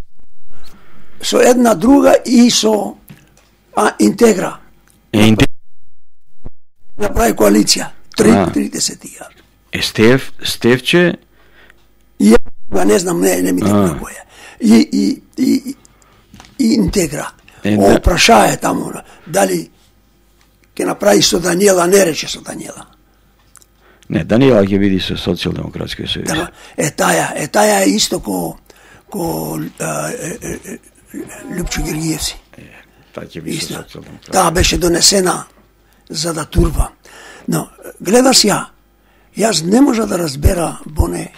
со една друга и со а, Интегра. Е, инте- Направи коалиција. А. тридесет илјади. е Стеф, Стефче, И ја не знам, не, не ми А. текна која. И, и, и, и Интегра. Е, О, да. прашаја таму, дали ќе направи со Даниела, не рече со Даниела. не, Даниела ќе види со Социјалдемократскиот сојуз. Да, е таја, е таја е исто ко, ко а, е, е, е, Лјупчо Гергиевси. Таа ќе види со Истина. Социјалдемократскиот. Таа беше донесена за да турба. Но, гледаш ја, јас не можа да разбера, Боне,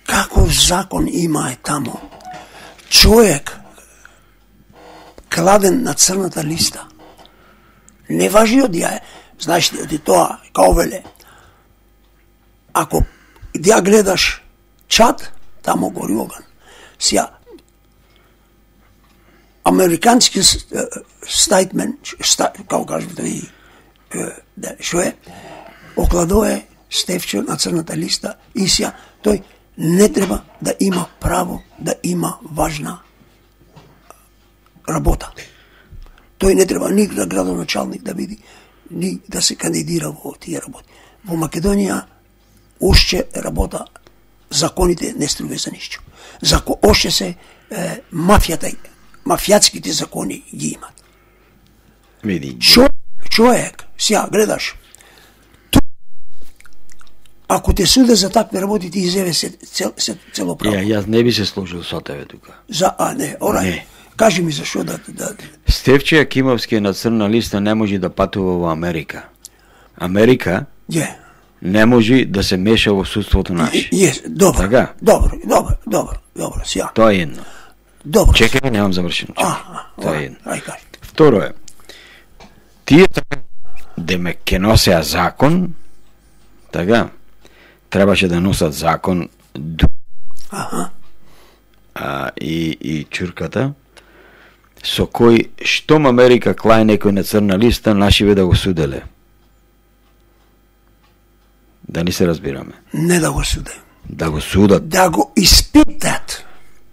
каков закон има е таму. Човек кладен на црната листа. Не важи од ја, знаеш ли, од тоа, као веле, ако ја гледаш чат, таму гори оган. Сија, американски стейтмент, како кажете и да, што е, окладое Стефче на црната листа и сја, тој не треба да има право да има важна работа. Тој не треба ни да градоначалник да биде, ни да се кандидира во тие работи. Во Македонија уште работа, законите не струва за ништо. Зако уште се е, мафијата, мафијатските закони ги имат. Види. Чо, човек, сја гледаш, ако те суде за такви работи, ти изеве се, цел, се цело право. Ја, јас не би се сложил со тебе тука. За, а не, орај. Не. Кажи ми зашо да... да... Стефче Јакимовски е на црна листа, не може да патува во Америка. Америка Је. не може да се меша во судството наше. Јес, добро. Така? Добро, добро, добро, добро, сја. Тоа е едно. Добро. Чекај, немам завршено. А, Чекај. а, Тоа е орај, едно. ај кажи. Второ е, тие деме ке носеа закон, така, требаше да носат закон Аха. а, и, и чурката, со кој штом Америка клај некој на црна листа, нашиве да го суделе. Да ни се разбираме. Не да го суде. Да го судат. Да го испитат.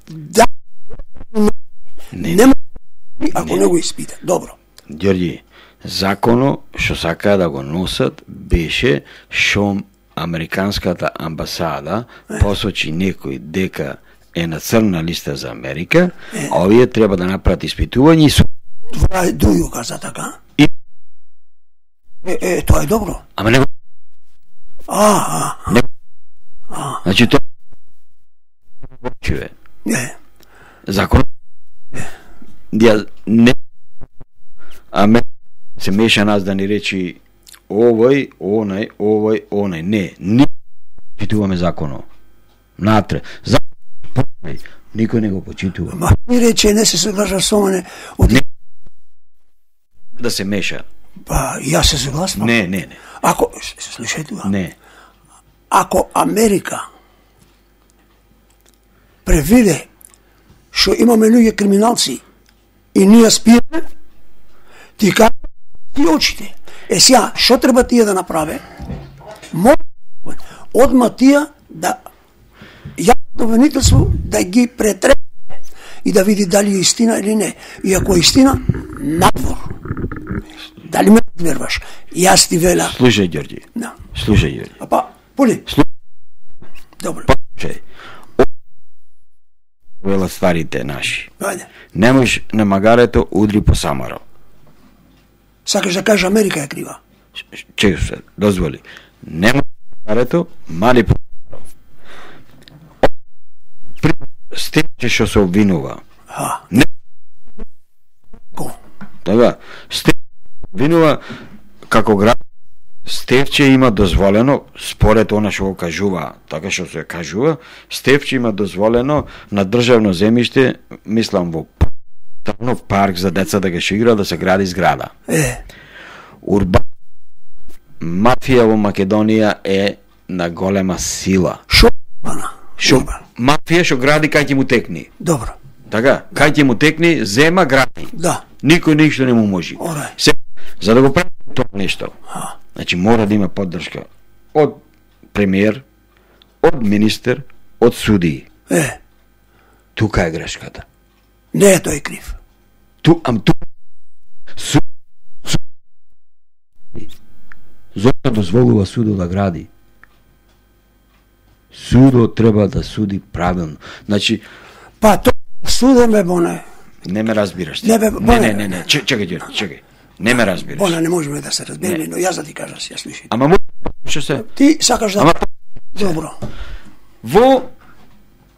Да. Не, Не може, ако не го испитат. Добро. Ѓорѓи, законо што сакаа да го носат беше што американската амбасада посочи некој дека е на црна листа за Америка, а овие треба да направат испитување и суд. Това е Дују каза така. И- Е, е, тоа е добро. Ама не го... А, а, Значи тоа... Чуе. е. Закон... Ја не... Аме се меша нас да ни речи овој, онај, овој, онај. Не, ни почитуваме законот. Натре. Закон, никој не го почитува. Ма ми рече, не се соглашав со мене. Од... Не. Да се меша. Па, јас се согласувам. Не, не, не. Ако, слушај тоа. Не. Ако Америка превиде што имаме луѓе криминалци и ние спиеме, ти кажа ти очите. Е сега, што треба тие да направе? Може одма тие да јавното обвинителство да ги претрепе и да види дали е истина или не. И ако е истина, надвор. Дали ме верваш? Јас ти вела. Слушај, Ѓорѓи. Да. Слушај, Ѓорѓи. А па, поли. Слушај. Добро. Слушај. Вела старите наши. Ајде. Немош на магарето удри по самаро. Сакаш да кажеш Америка е крива? Чекай се, дозволи. Немош на магарето, мали по самаро. При Стефче што се обвинува. Ха. Не. Ко? Така, Стефче обвинува како град. Стефче има дозволено, според она што го кажува, така што се кажува, Стефче има дозволено на државно земјиште, мислам во Трнов парк за деца да ги игра, да се гради зграда. Е. Урбан мафија во Македонија е на голема сила. Шо? Ана. Шо мафија што гради кај ќе му текни. Добро. Така, кај ќе му текни, зема гради. Да. Никој ништо не му може. Орај. Се, за да го прави тоа нешто, Ха. значи мора да има поддршка од премиер, од министер, од судии. Е. Тука е грешката. Не е тој крив. Ту, ам ту су, су, зошто дозволува судот да гради? Судот треба да суди правилно. Значи, Па тоа судеме боне. не ме разбираш. ти. Не, бе, не, боне. не, не, не, Ч- чекај, Ѓорѓе, чекај. Не ме разбираш. Боне не можеме да се разбереме, Не. но јас да ти кажам си, ја слушај. Ама му што се Ти сакаш да... Ама Добро. во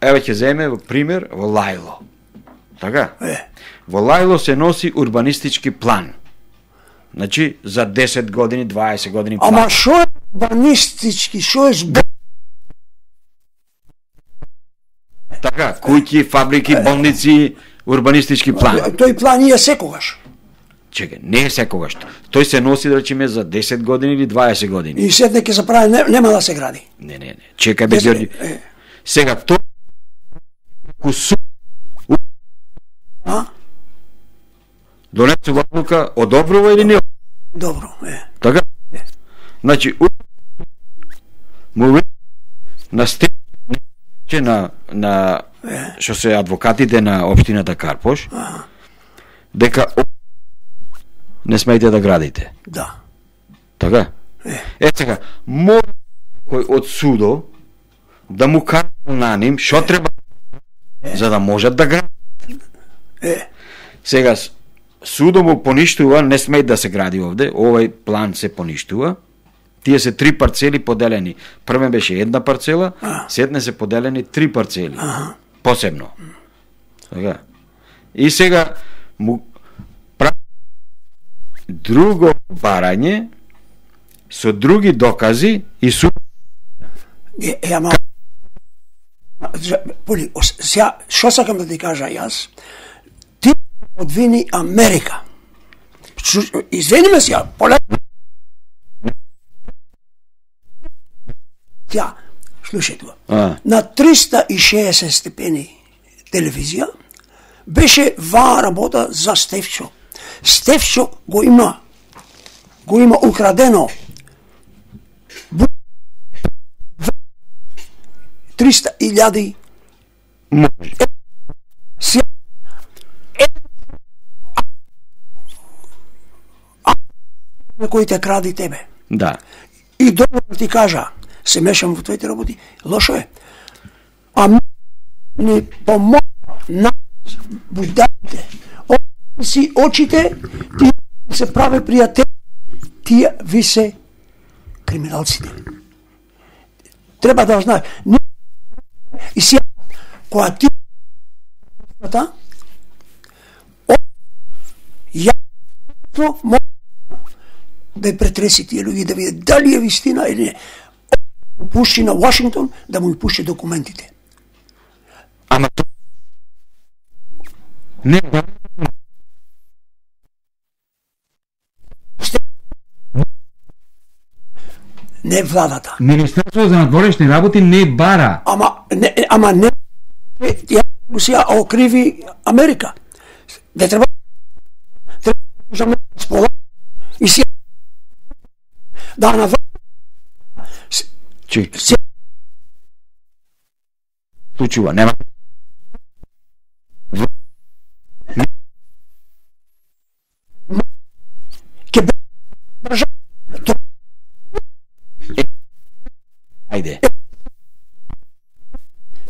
еве ќе земе во пример во Лајло. Така? Е. Во Лајло се носи урбанистички план. Значи за десет години, дваесет години план. Ама шо е урбанистички, шо е збор? Така, куќи, фабрики, болници, урбанистички план. Тој план е секогаш. Чекај, не е секогаш. Тој се носи, да речеме, за десет години или дваесет години. И сетне ќе се прави, не, нема да се гради. Не, не, не. Чекај, бе, Десет- Ѓорѓи. е. Сега, тоа кусу А? Донесува одлука, одобрува или не? Добро, е. Така? Значи, му на степ на на што се адвокатите на општината Карпош, дека не смеете да градите. Да. Така? Е, Е сега, може кој од судо да му каже на ним што треба за да можат да градат. е. Сега судо му поништува, не смее да се гради овде, овој план се поништува. Тие се три парцели поделени. Првен беше една парцела, сетне се поделени три парцели. Аха. Посебно. Така. И сега му прави друго барање со други докази и суд. Е, е, ама... Поли, ос- сега, што сакам да ти кажа јас? Ти одвини Америка. Шу- Извини ме сега, поле... Тя, слушај тоа. А. На триста и шеесет степени телевизија беше ваа работа за Стефчо. Стефчо го има, го има украдено триста илјади Може. Сега на кои те кради тебе. Да. И добро ти кажа, се мешам во твоите работи, лошо е. А ми не помогна на будалите. Отвори си очите, тие се праве пријатели, тие ви се криминалците. Треба да знаеш. И сега, кога ти та, ја може да ја претреси тие луѓе, да види дали е вистина или не. Пушти на Вашингтон да му пушти документите. Ама то... Не, да. Не владата. Министерството за надворешни работи не бара. Ама не, ама не ја Русија окриви Америка. Не треба треба да спола и си да на Чи, се случува, нема. ке држа Ајде.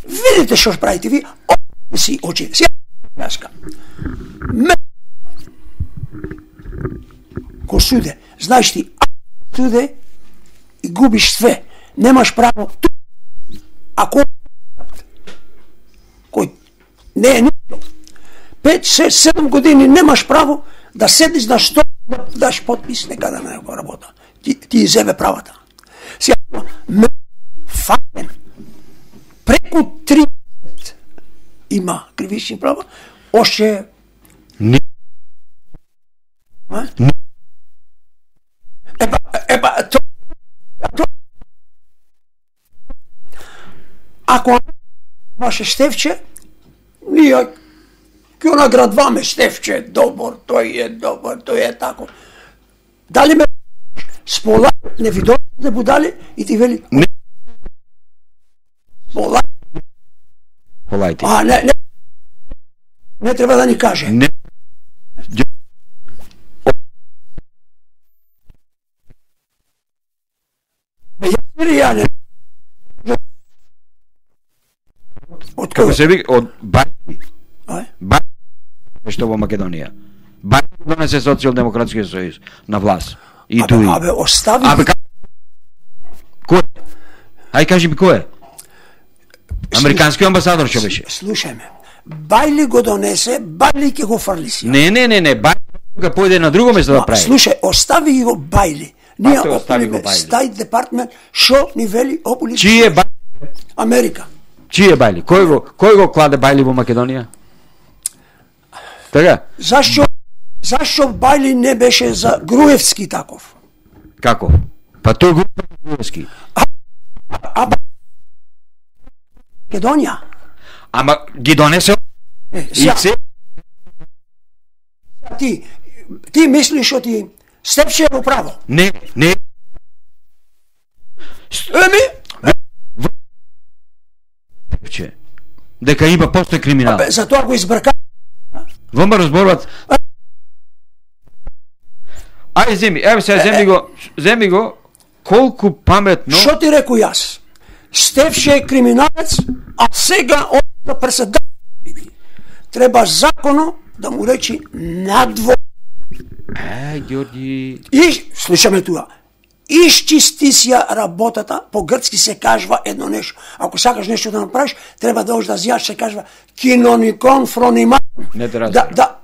видите што правите ви, о, си очи. Си јаска. Ме ко суде, знаеш ти, а суде и губиш све. Немаш право ту. Ако кој не е ништо. Пет, шест, седум години немаш право да седиш на што да даш потпис некаде на некоја работа. Ти, ти иземе правата. Сега, ме фактен преку тридесет има кривични права, още Не. а? Епа, епа, то, то, ако ваше Стефче, ние ќе наградваме Стефче, добар, тој е добар, тој е тако. Дали ме спола, не ви дойде будали и ти вели, Не. спола, Полајте. а не, не, не треба да ни каже. Не. Или ја не. Од Како кој? се вика, од Баји. Ај? Баји што во Македонија. Баји донесе Социјалдемократскиот сојуз на власт. И Абе, туи. абе, остави. Абе, ка... Кој? Ај кажи ми кој е? Американски амбасадор што беше? Слушај ме. Бајли го донесе, Бајли ќе го фрли си. Не, не, не, не, Баји га појде на друго место да Ма, прави. слушај, остави ги го Бајли. Ние Па, тој остави го опулиме Бајли. Стајт департмент, шо ни вели опули Чиј е Бајли? Америка. Чиј е Бајли? Кој го кој го кладе Бајли во Македонија? Така? Зашо зашо Бајли не беше за Груевски таков? Како? Па тој го Груевски. А Ба- Македонија. Ама ги донесе Е, и сега, се ти, ти мислиш што ти Стефче е во право. Не, не. Еми, Стефче. Дека има постои криминал. бе, за тоа го избрка. Вама разборуваат. Ај земи, еве сега земи го, земи го колку паметно. Што ти реку јас? Стефче е криминалец, а сега он да преседател. Треба законо да му речи надво. Е, Ѓорѓи. И, слушаме туа, исчисти си работата, по грцки се кажува едно нешто. Ако сакаш нешто да направиш, треба да одиш да зјаш, се кажува киноникон фронима. Не те Да, разбирам. да,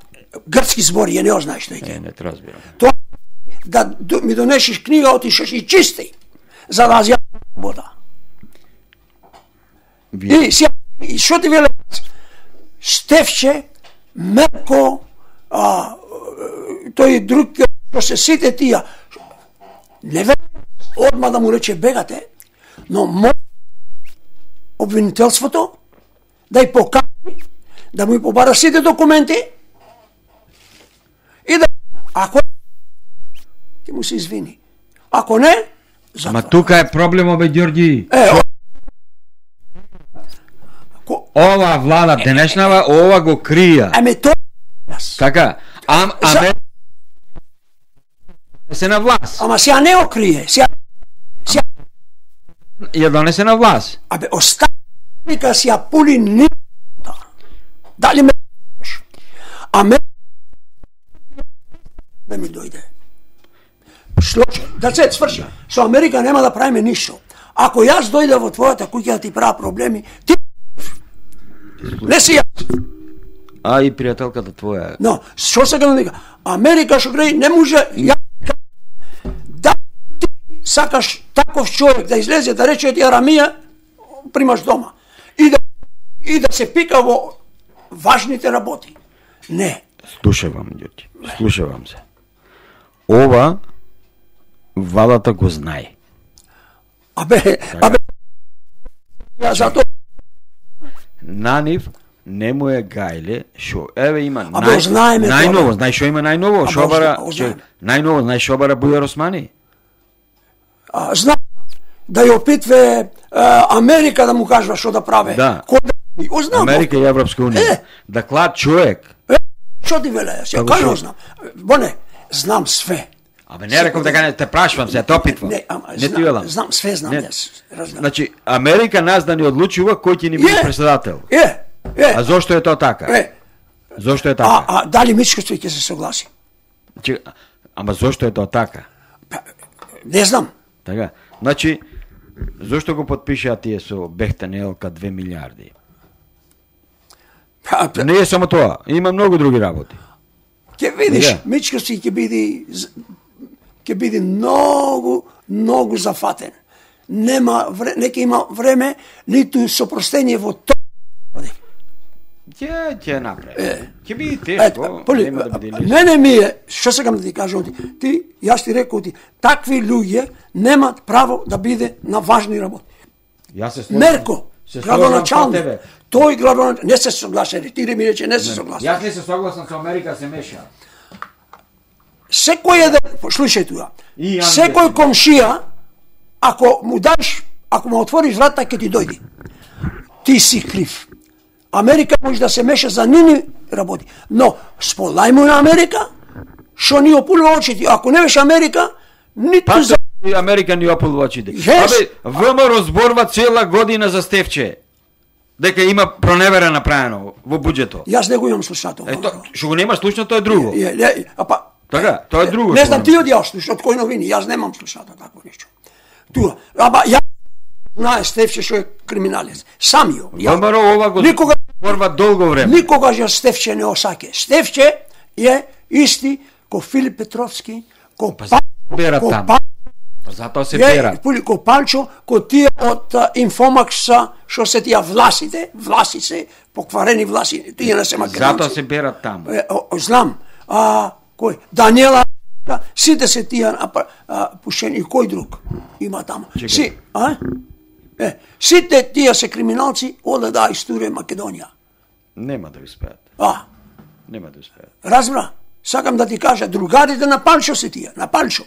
грцки збори, ја не знаеш тој. Е, не те разбирам. Тоа да д- ми донесеш книга, отишеш и чисти, за да зјаш работа. Вие. И сега, и што ти веле? Стефче, Мерко, а, тој друг, што се сите тие, не ве одма да му рече бегате, но мо обвинителството да ја покани, да му ја побара сите документи и да, ако ти му се извини. Ако не, за Ама тука е проблемот, бе, Ѓорѓи. е, о- ко- Ова влада денешнава, ова го крија. еме тоа јас. Така, ам, За- аме... се на власт. Ама сега не окрие, сега, сега, Ја донесе на власт. абе, оставика си ја пули нита. Дали ме а ме да ми дојде. Шлоče, да се сврши. Со Америка нема да правиме ништо. Ако јас дојде во твојата куќа да ти правя проблеми, ти не си јас. А и пријателката твоја. Но, што сега да вика? Америка што греј не може ја да ти сакаш таков човек да излезе да рече ти Арамија примаш дома и да и да се пика во важните работи. Не. Слушавам, Ѓорѓи. Слушавам се. Ова владата го знае. Абе, абе ја зато На нив не му е гајле, шо еве има Абе, знаеме тоа, најново, бе. знаеш што има најново, Абе, шобара, озна- че- ознаеме. најново, знаеш шобара Бујар Османи. а, знам да ја опитве а, Америка да му кажува што да праве. Да. Кој да ознам. Америка и Европска унија. Е. Да клад човек. Е, што ти веле? Ја Како кажам што? знам. Боне, знам све. Абе не реков дека не те прашувам се, те опитвам. Не, ама, Не ти знам, велам. знам, све знам Не. јас. Разбирам. Значи Америка нас да ни одлучува кој ќе ни биде Е. председател. Е, е, А зошто е тоа така? е. Зошто е А, така? а дали Мичкоство ќе се согласи? Че- Ама зошто е тоа така? Па, не знам. Така. Значи зошто го потпишаа тие со Бехтанелка две милиарди? Па, па, Не е само тоа, има многу други работи. ќе видиш, Сега. Мичкоство ќе биде з- ќе биде многу, многу зафатен. Нема вре, не ќе има време ниту сопростение во тоа. Ќе ќе направи. Ќе биде Ето, тешко, поли, нема да биде лесно. мене ми е, што сакам да ти кажам, ти, ти јас ти рекол ти, такви луѓе немаат право да биде на важни работи. Јас се слушам. Мерко, Се слушам со градоначалник, тебе. тој градоначалник, не се согласен, ти ми рече не се согласен. Јас не се согласам со Америка се меша. Секој еден, слушај туа, И Андрей. секој комшија, ако му даш, ако му отвориш врата, ќе ти дојде. Ти си крив. Америка може да се меша за нини работи, но сполај му на Америка, што ни опулува очите. Ако не беше Америка, ниту Па за... и Америка ни опулва очите. Yes. Абе, ВМРО зборува цела година за Стефче. Дека има проневера направено во буџето. Јас не го имам слушател. Ето, што го нема слушно, тоа е друго. Е, е, а па, Така, тоа е друго. не што знам го ти од јас слушаш, од кој новини, јас немам слушател такво нешто. Туа, ама ја знае Стефче што е криминалец. Сам ја. ја- ВМРО ова го Никога зборува долго време. Никогаш ја Стефче не осаке. Стефче е исти ко Филип Петровски, ко Па, бера ко таму. Па, Затоа се е, бера. пули ко Палчо, ко тие од а, Инфомакса, што се тие власите, власи се, покварени власи, тие не се македонци. Затоа се бера таму. Е, о, о, знам, а, кој? Даниела, да, сите се тие а, а, пушени, и кој друг има таму? Чекај. Си, а? Е, сите тие се криминалци, оде да историја Македонија. Нема да успеат. А, Нема да успеат. разбра? Сакам да ти кажа, другарите на Палчо се тие, на Палчо.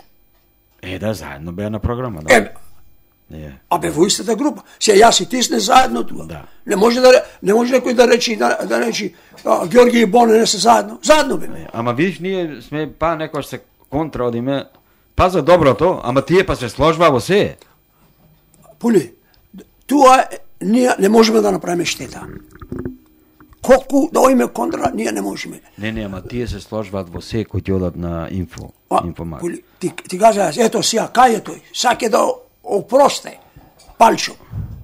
Е, да, заедно беа на програма, да. Е, Е. а бе во истата група. Се јас и ти сме заедно тука. Да. Не може да не може некој да речи да, да речи а, Георги и Боне не се заедно. Заедно бе. Е, Ама видиш, ние сме па некој се контра од име, па за доброто, ама тие па се сложба во се. Пули, туа е- ние не можеме да направиме штета. Колку да оиме контра, ние не можеме. Не, не, ама тие се сложваат во се кои ќе одат на инфо, А, информат. Пули, ти, ти кажа, јас, ето сија, кај е тој? Саке да опросте Палчо.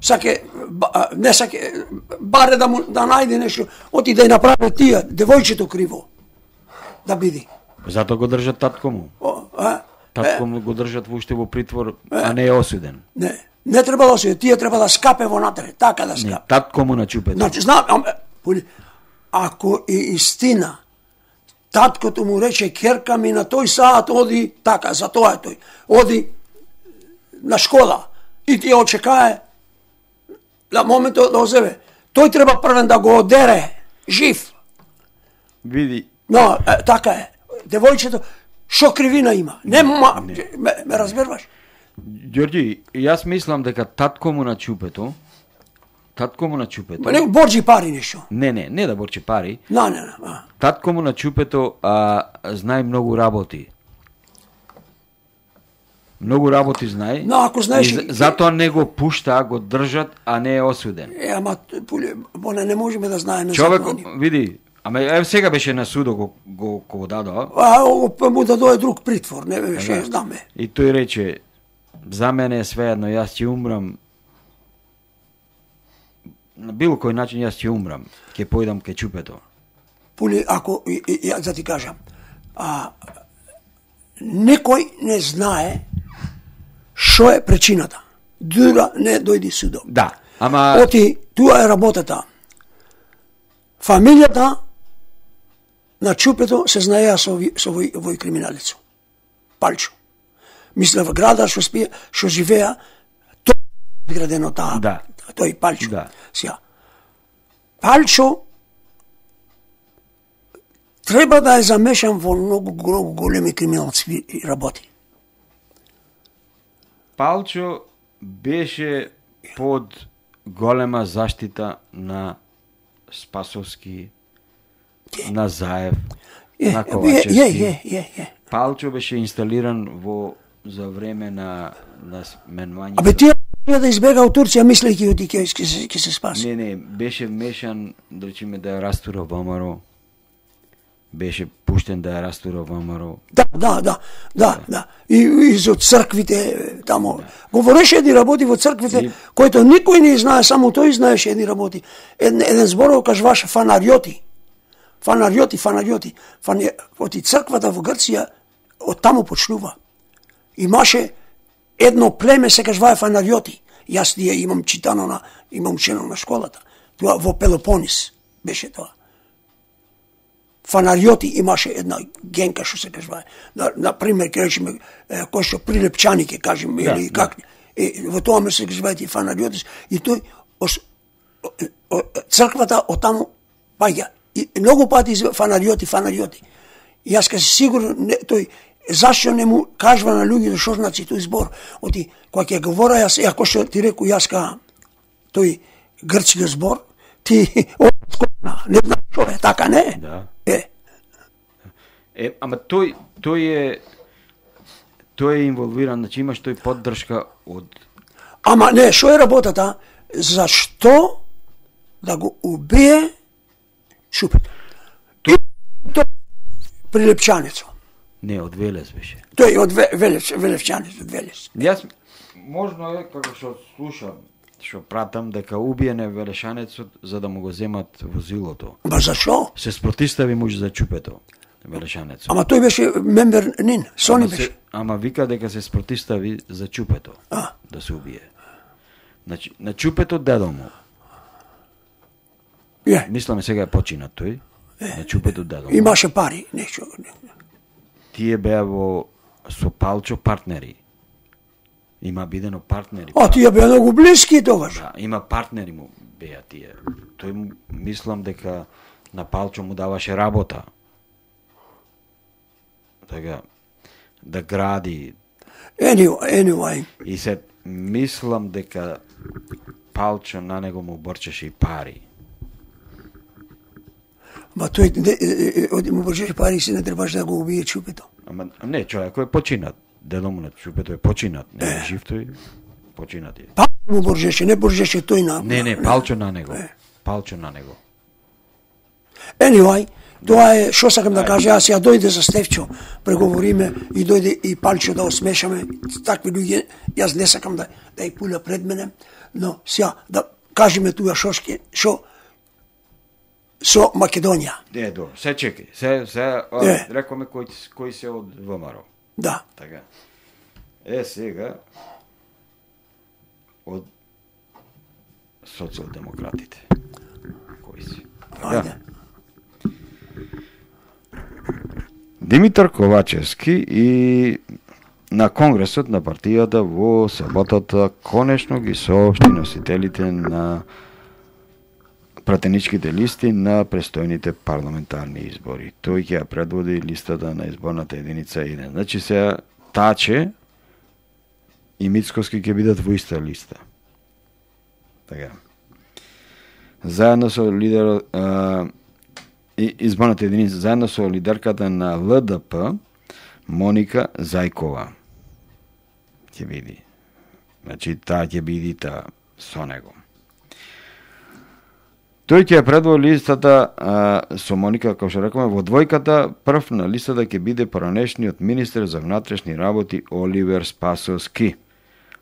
Саке, ба- а, не саке, баре да му да најде нешто, оти да ја направи тие, девојчето криво. Да биде. Затоа го држат татко му. О, а? Татко му го држат воопште во притвор, а не е осуден. Не, не треба да се, тие треба да скапе во натре, така да Не, скапе. татко му на чупето. Значи, знам, ам, Пули, ако е истина, таткото му рече, керка ми на тој саат оди, така, за тоа е тој, оди на школа и ти ја очекае на моментот да озеве. Тој треба првен да го одере, жив. Види, Но, е, така е. Девојчето, шо кривина има? Нема, ме, ме разбираш? Ѓорѓи, јас мислам дека татко му на чупето, татко му на чупето. Ма не борџи пари нешто. Не, не, не да борчи пари. На, не, не. А. Татко му на чупето а, знае многу работи. Многу работи знае. Но ако знаеш- И за- затоа не го пушта, го држат, а не е осуден. Е, ама, Пули, Боне, не можеме да знаеме Човек, закони. види, ама еве сега беше на судо го го го дадоа. А, ово му да дое друг притвор, не беше, Да. знаме. И тој рече, за мене е свеедно, јас ќе умрам. На било кој начин јас ќе умрам, ќе појдам ке чупето. Пули, ако, и, и, ја да ти кажам, а, некој не знае шо е причината. Дура не дојди судом. Да, ама Оти, туа е работата. Фамилијата на чупето се знаеа со, ови- со овој, овој криминалецо. Палчо. Мисля во града што спие, што живеа, тој е градено таа. Да. Тој Палчо. Да. Сија. Палчо треба да е замешан во многу, многу големи криминалски работи. Палчо беше под голема заштита на Спасовски, на Заев, Е, на е, Ковачевски. е, е, е, е. Палчо беше инсталиран во за време на на сменување. Абе тие ја да избега од Турција мислејќи оти ќе ќе се ќе се спаси. Не, не, беше вмешан, да речеме, да ја растура ВМРО. Беше пуштен да ја растура ВМРО. Да, да, да, да, да. И, и за црквите тамо. Говореше едни работи во црквите, И- којто никој не знае, само тој знаеше едни работи. Еден, еден зборов кажуваше фанариоти. Фанариоти, фанариоти. Фани... Оти црквата во Грција од таму почнува. Имаше едно племе се кажувае фанариоти. Јас тие имам читано на имам учено на школата. Тоа во Пелопонис беше тоа. Фанариоти имаше една генка што се кажува. На, на пример, ќе речеме е, кој што прилепчани ќе кажеме Да, или да. как. Е, во тоа ме се кажуваат и фанариоти и тој ос, о, о, црквата од таму паѓа. И многу пати из- фанариоти, фанариоти. И јас ка се сигурно не, тој зашто не му кажува на луѓето што значи тој збор. Оти кога ќе говора јас, ако што ти реку јас ка тој грчки збор, ти не знам што е, така не е? Да. Е, Е, ама тој тој е тој е инволвиран, значи имаш тој поддршка од ама не, што е работата? Зашто да го убие Шупето? И то прилепчанецо. не од Велес беше. Тој од Ве- Велес, Велевчанец, од Велес. Јас можно е како што слушам, што пратам дека убиене Велешанецот за да му го земат возилото. Ба зашо? Се спротистави муж за чупето Велешанецот. Ама тој беше мембер нин, Сони Ама, беше. се, ама вика дека се спротистави за чупето А. да се убие. Значи, на чупето дедо му. Е, Мисламе сега е починат тој. На чупето дедо му. имаше пари, нешто. Тие беа во со Палчо партнери. Има бидено партнери. А тие беа многу блиски тогаш. Да, има партнери му беа тие. Тој му- мислам дека на Палчо му даваше работа. така, да гради. Anyway, anyway. И се мислам дека Палчо на него му борчеше и пари. Ма тој оди му борчеше пари и се не требаше да го убие чупето. Ама не, човекот е починат. Дедо му на чупето е починат. Не е жив тој, починат е. Палчо му борчеше, не борчеше тој на... Не, не, Палчо на него. Палчо на него. Anyway, тоа е што сакам да кажа, јас ја дојде за Стефчо, преговориме и дојде и Палчо да осмешаме, такви луѓе, јас не сакам да да ја пуля пред мене, но сега да кажеме туа што ќе што со Македонија. Е, до, се чекај, се се Е. рекоме кој кој се од ВМРО. Да. Така. Е сега од социјалдемократите. Кои си? Ајде. Димитар Ковачевски и на Конгресот на партијата во саботата конечно ги соопшти носителите на пратеничките листи на престојните парламентарни избори. Тој ќе ја предводи листата на изборната единица еден. Значи се Таче и Мицкоски ќе бидат во иста листа. Така. Заедно со лидерот а, и изборната единица, заедно со лидерката на Л Д П Моника Зајкова. Ќе биде. Значи таа ќе биде та со него. Тој ќе ја предводи листата а, со Моника, како што рекоме, во двојката прв на листата ќе биде поранешниот министер за внатрешни работи Оливер Спасовски,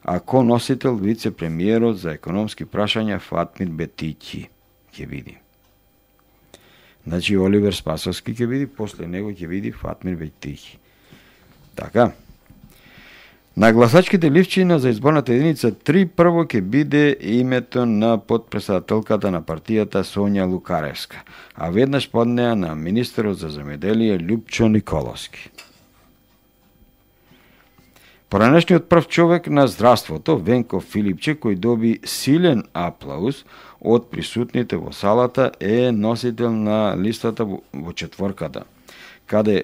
а коносител вице-премиерот за економски прашања Фатмир Бетиќи ќе биде. Значи Оливер Спасовски ќе биде, после него ќе биде Фатмир Бетиќи. Така. На гласачките ливчина за изборната единица три прво ќе биде името на подпредседателката на партијата Сонја Лукаревска, а веднаш под неа на министерот за земјоделие Љупчо Николовски. Поранешниот прв човек на здравството, Венко Филипче, кој доби силен аплауз од присутните во салата, е носител на листата во четворката, каде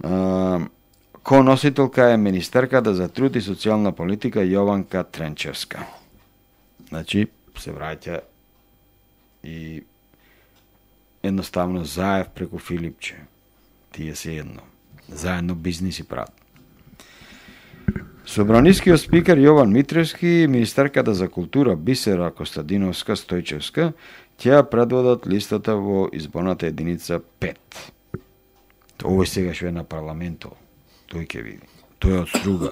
а, коносителка е министерката за труд и социјална политика Јованка Тренчевска. Значи, се враќа и едноставно Заев преку Филипче. Тие се едно. Заедно бизнис и прават. Собранискиот спикер Јован Митревски и министерката за култура Бисера Костадиновска Стојчевска ќе ја предводат листата во изборната единица пет. Овој сега што е на парламентот, тој ќе види. Тој е од Струга.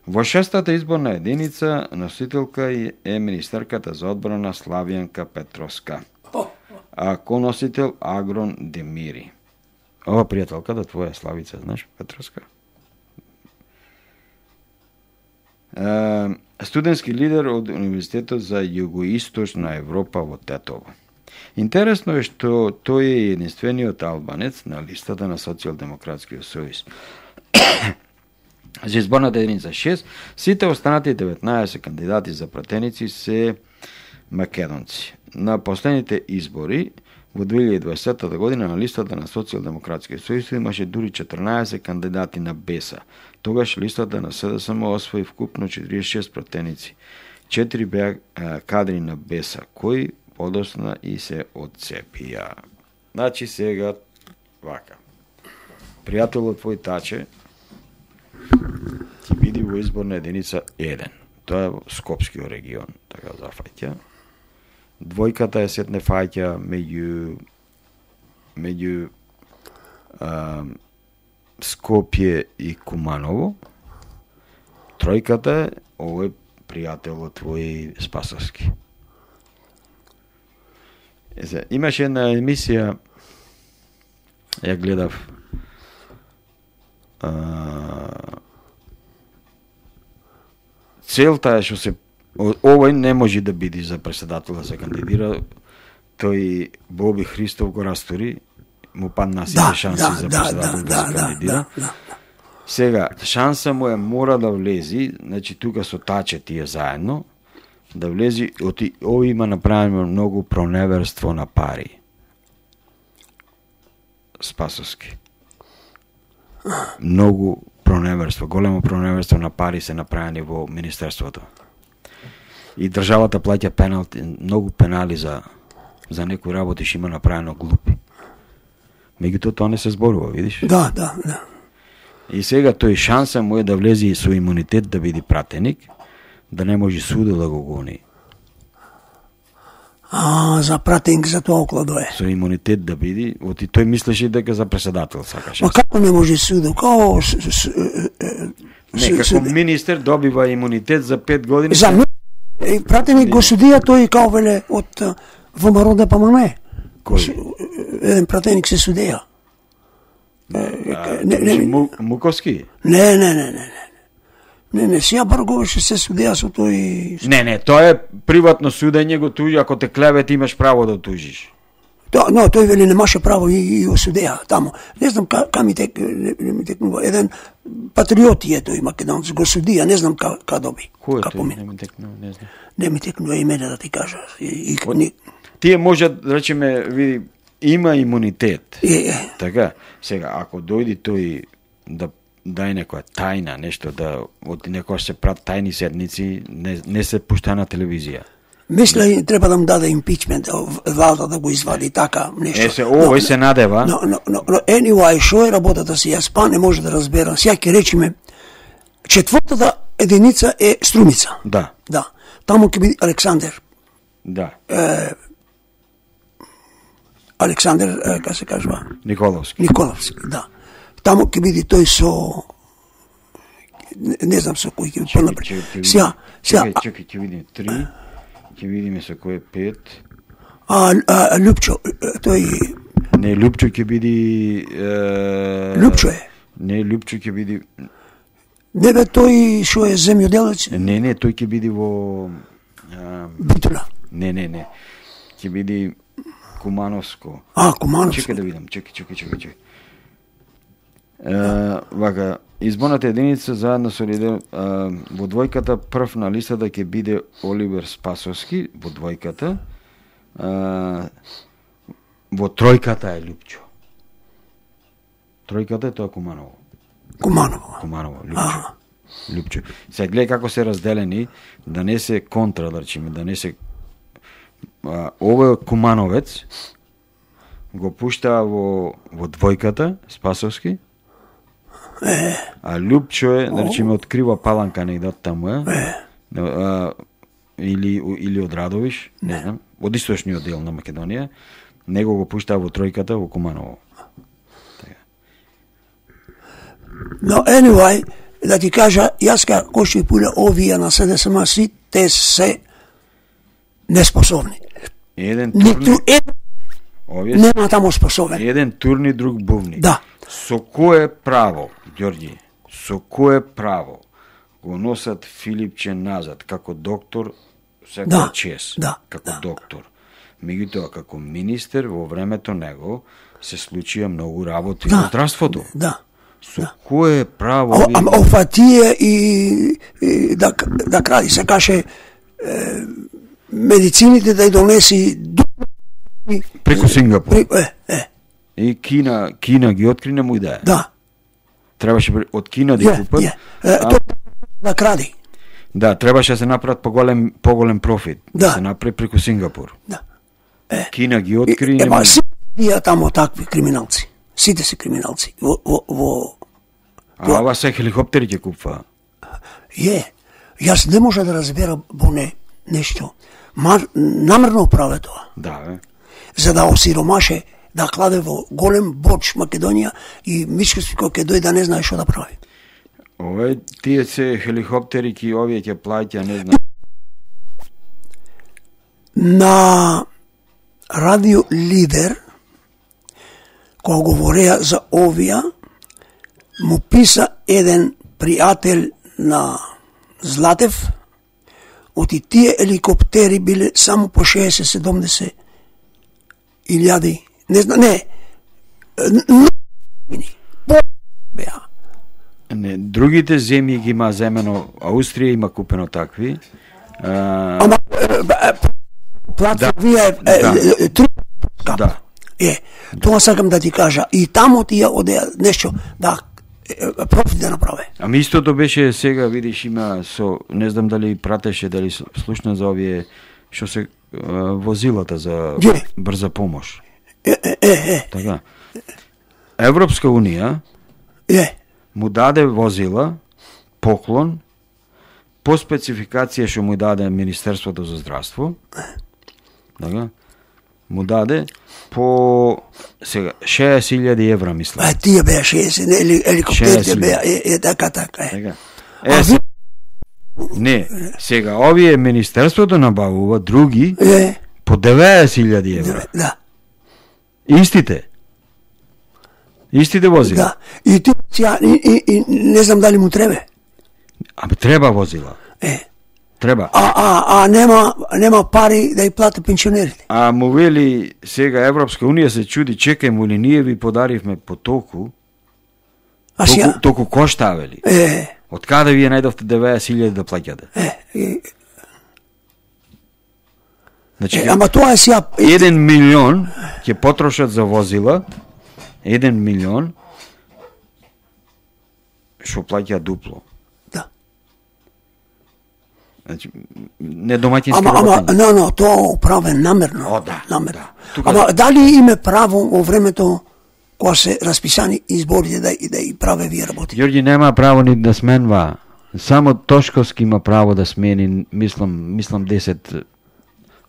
Во шестата изборна единица носителка е министерката за одбрана Славјанка Петровска, а коносител Агрон Демири. Ова пријателката твоја Славица, знаеш, Петровска? Студентски лидер од Универзитетот за Југоисточна Европа во Тетово. Интересно е што тој е единствениот албанец на листата на Социјалдемократскиот сојуз. За изборната единица шест, сите останати деветнаесет кандидати за пратеници се македонци. На последните избори во две илјади и дваесетта година на листата на Социјалдемократскиот сојуз имаше дури четрнаесет кандидати на Беса. Тогаш листата на С Д С М освои вкупно четиридесет и шест пратеници. Четири беа кадри на Беса, кои подосна и се одцепија. Значи сега вака. Пријателот твој Таче ќе биде во изборна единица еден. Тоа е во Скопскиот регион, така зафаќа. Двојката е сетне фаќа меѓу меѓу а, Скопје и Куманово. Тројката е овој пријателот твој Спасовски. Есе, имаше една емисија, ја гледав, а, целта е што се овој не може да биде за председател да се кандидира, тој Боби Христов го растори, му падна сите Да, шанси да, за да, председател да, да, се да, кандидира. да, да. Сега, шанса му е мора да влези, значи тука со Таче тие заедно, да влези, оти, ови има направено многу проневерство на пари. Спасовски. Многу проневерство, големо проневерство на пари се направени во министерството. И државата плаќа пеналти, многу пенали за за некои работи што има направено глупи. Меѓутоа тоа не се зборува, видиш? Да, да, да. И сега тој шанса му е да влезе и со имунитет да биде пратеник, да не може судот да го гони. А, за пратеник за тоа окладо е. Со имунитет да биде, оти тој мислеше дека за преседател сакаше. Ма како не може судот? Као с, с, Не, како министер добива имунитет за пет години. За ми... пратеник го судија тој као веле од ВМРО да помане. Кој? Еден пратеник се судија. Не, не, не, Муковски? Не, не, не, не, не. Не, не, сија Барговеше се судија со тој... Не, не, тоа е приватно судење, го тужи, ако те клевет имаш право да тужиш. Да, но тој вели немаше право и, и го судеа таму. Не знам ка, ка ми тек, не, не ми текнува. Еден патриот е тој македонец, го судија, не знам ка, ка доби. Кој е ка тој? помина. Не ми текнува, не знам. Не ми текнува имене да ти кажа. И, и, Од... ни... Тие може, да речеме, види, има имунитет. Е, е. Така, сега, ако дојди тој да дај некоја тајна, нешто, да од некоја се прат тајни седници, не, не се пушта на телевизија. Мисля и треба да му даде импичмент, валда да го извади така нешто. Е, се, овој се надева. Но, но, но, но anyway, шо е работата си, јас па не може да разберам. Сега ќе речеме, четвртата единица е Струмица. Да. Да. Таму ќе биде Александер. Да. Е, Александер, е, как се кажува? Николовски. Николовски, да. Таму ќе биде тој со... Не, не знам со кој ќе биде понапред. Сега, сега... Чекај, чекај, ќе видиме три, ќе видиме со кој е пет. А, а Лјупчо, тој... Не, Лјупчо ќе биде... Е... Лјупчо е. Не, Лјупчо ќе биде... Не бе тој што е земјоделец? Не, не, тој ќе биде во... А... Битула. Не, не, не. Ќе биде Кумановско. А, Кумановско. Чекај да видам, чекај, чекај, чекај, чекај. Е, вака, изборната единица заедно со лидер, а, во двојката прв на листата ќе биде Оливер Спасовски, во двојката. А, во тројката е Лјупчо. Тројката е тоа Куманово. Куманово. Куманово, Лјупчо. Лјупчо. Сега гледај како се разделени, да не се контра, да речеме, да не се... А, овој Кумановец го пушта во, во двојката, Спасовски, Е. а Лјупчо е, да речеме, открива Паланка негде од таму е, Е. а, или, или од Радовиш, не знам, од источниот дел на Македонија, него го пушта во тројката во Куманово. Но anyway, да ти кажа, јас како што и пуля овие на СДСМ си, те се неспособни. Еден Ниту турни, еден овие нема таму способен. еден турни, друг бувни. Да. Со кое право, Ѓорѓи, со кое право го носат Филипче назад како доктор, секоја Да, чест, да, како да. доктор. Меѓутоа, како министер, во времето него се случија многу работи Да. во здравството. Да. Со кое право... О, ви- ама офатија и, и да, да кради се каже е, медицините да ја донеси ду- преку Сингапур. при, е, е, И Кина, Кина ги откри, не му и да е. да. Требаше пре- од Кина да Е, ги купат. е, е, а- тоа да кради. Да, требаше да се направат поголем, поголем профит. Да. се направи преку Сингапур. Да. Кина ги откри и не Ема, може. сите тие таму такви криминалци. Сите се криминалци. Во, во, во А ова се хеликоптери ќе купува. е, јас не може да разберам боне нешто. Мар, намерно праве тоа. Да, бе. За да осиромаше, да кладе во голем боч Македонија и Мичковски кој ќе дојде да не знае што да прави. Ове тие се хеликоптери ки овие ќе плаќа, не знам. На радио Лидер, кога говореа за овија, му писа еден пријател на Златев, оти тие еликоптери биле само по шеесет седумдесет илјади, не знам, не, н- по беа. Не, другите земји ги има земено, Аустрија има купено такви. А, Ама, е, е, платформија е, е, Да. е, е, тру- да. Е, тоа сакам да ти кажа. И таму тие одеа нешто да е, профит да направе. Ами истото беше сега, видиш, има со, не знам дали пратеше, дали слушна за овие што се а, возилата за Е. брза помош. Е, е, е, е, Така. Европска унија е. му даде возила, поклон, по спецификација што му даде Министерството за здравство, така, му даде по сега шеесет илјади евра, мислам. А тие беа шеесет, или еликоптерите беа, е, е, така, така, е. Така. А Е, ви- не, сега овие Министерството набавува други Е, по деветесет илјади евра. да, Истите. Истите возила. да. И ти, сега, и, и, и не знам дали му требе. Ами треба возила. Е. Треба. А, а, а нема, нема пари да ја плати пенсионерите. А му вели сега Европска унија се чуди, чекај му ли ние ви подаривме по толку, А толку, сега, толку кошта, вели. е, Од каде вие најдовте деветесет илјади да плаќате? е, е, Значи, е, ама тоа е сега, е, еден милион ќе потрошат за возила, еден милион, што плаќа дупло. да. Значи, не домаќински Ама, ама, работење. но, но, тоа прави намерно. О, да, намерно. да. Тука- Ама дали име право во времето кога се расписани изборите да, да и праве вие работи? Ѓорѓи нема право ни да сменва. Само Тошковски има право да смени, мислам, мислам десет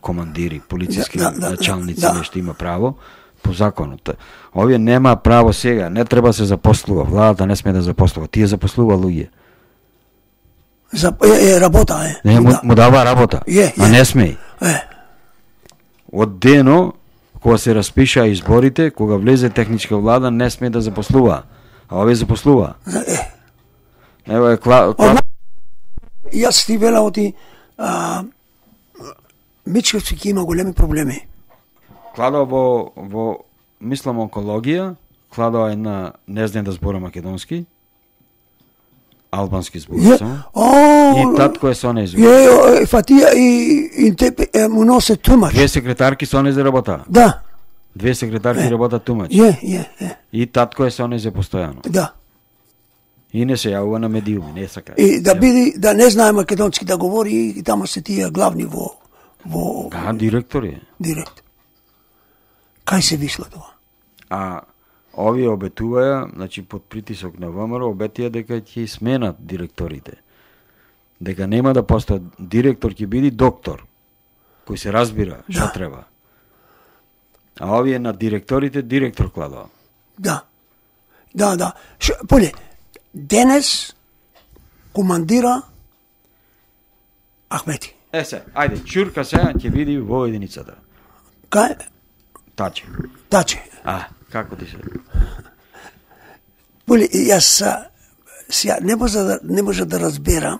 командири, полициски Да, да, да, началници, да. нешто има право по законот. Овие нема право сега, не треба да се запослува, владата не сме да запослува, тие запослува луѓе. За, е, е, работа е. Не, му, да. му дава работа, Е, а е. не сме. Е, Од дено, кога се распишаа изборите, кога влезе техничка влада, не сме да запослува. А овие запослува. е. Ево е кла... кла... Ама, јас ти велам оти, а, Мичковски ќе има големи проблеми. Кладо во, во, мислам, онкологија, кладо една, не знам да збора македонски, албански збора Е, само. о, И татко е со неј. Е, е, фатија и, и те, е, му носе тумач. Две секретарки со неј за работа. Да, Две секретарки работат тумач. е, е, е, И татко е со неј за постојано. да. И не се јавува на медиуми, не сака. И да биде, да не знае македонски да говори, и тамо се тие главни во, во Да, директор е. директ. Кај се вишла тоа? А овие обетуваја, значи под притисок на ВМРО, обетија дека ќе сменат директорите. Дека нема да постои директор, ќе биде доктор, кој се разбира што Да. треба. А овие на директорите директор кладува. Да. Да, да. Ш, поле, денес командира Ахмети. Е се, ајде, чурка сега ќе види во единицата. Кај? Таче. Таче. А, како ти се? Поле, јас а, сега не може да не може да разберам.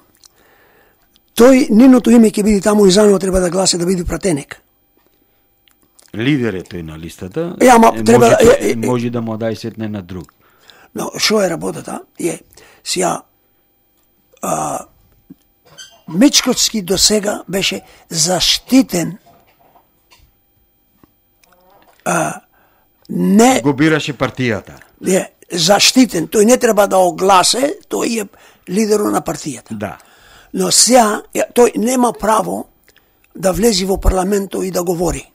Тој ниното име ќе биде таму и за него треба да гласа да биде пратеник. Лидер е тој на листата. Е, ама е, треба- може, е, е, може да му дај сетне на друг. Но што е работата? Е, сега а, Мичковски до сега беше заштитен а, не Го бираше партијата. е, заштитен, тој не треба да огласе, тој е лидерот на партијата. Да. Но сега е, тој нема право да влези во парламентот и да говори.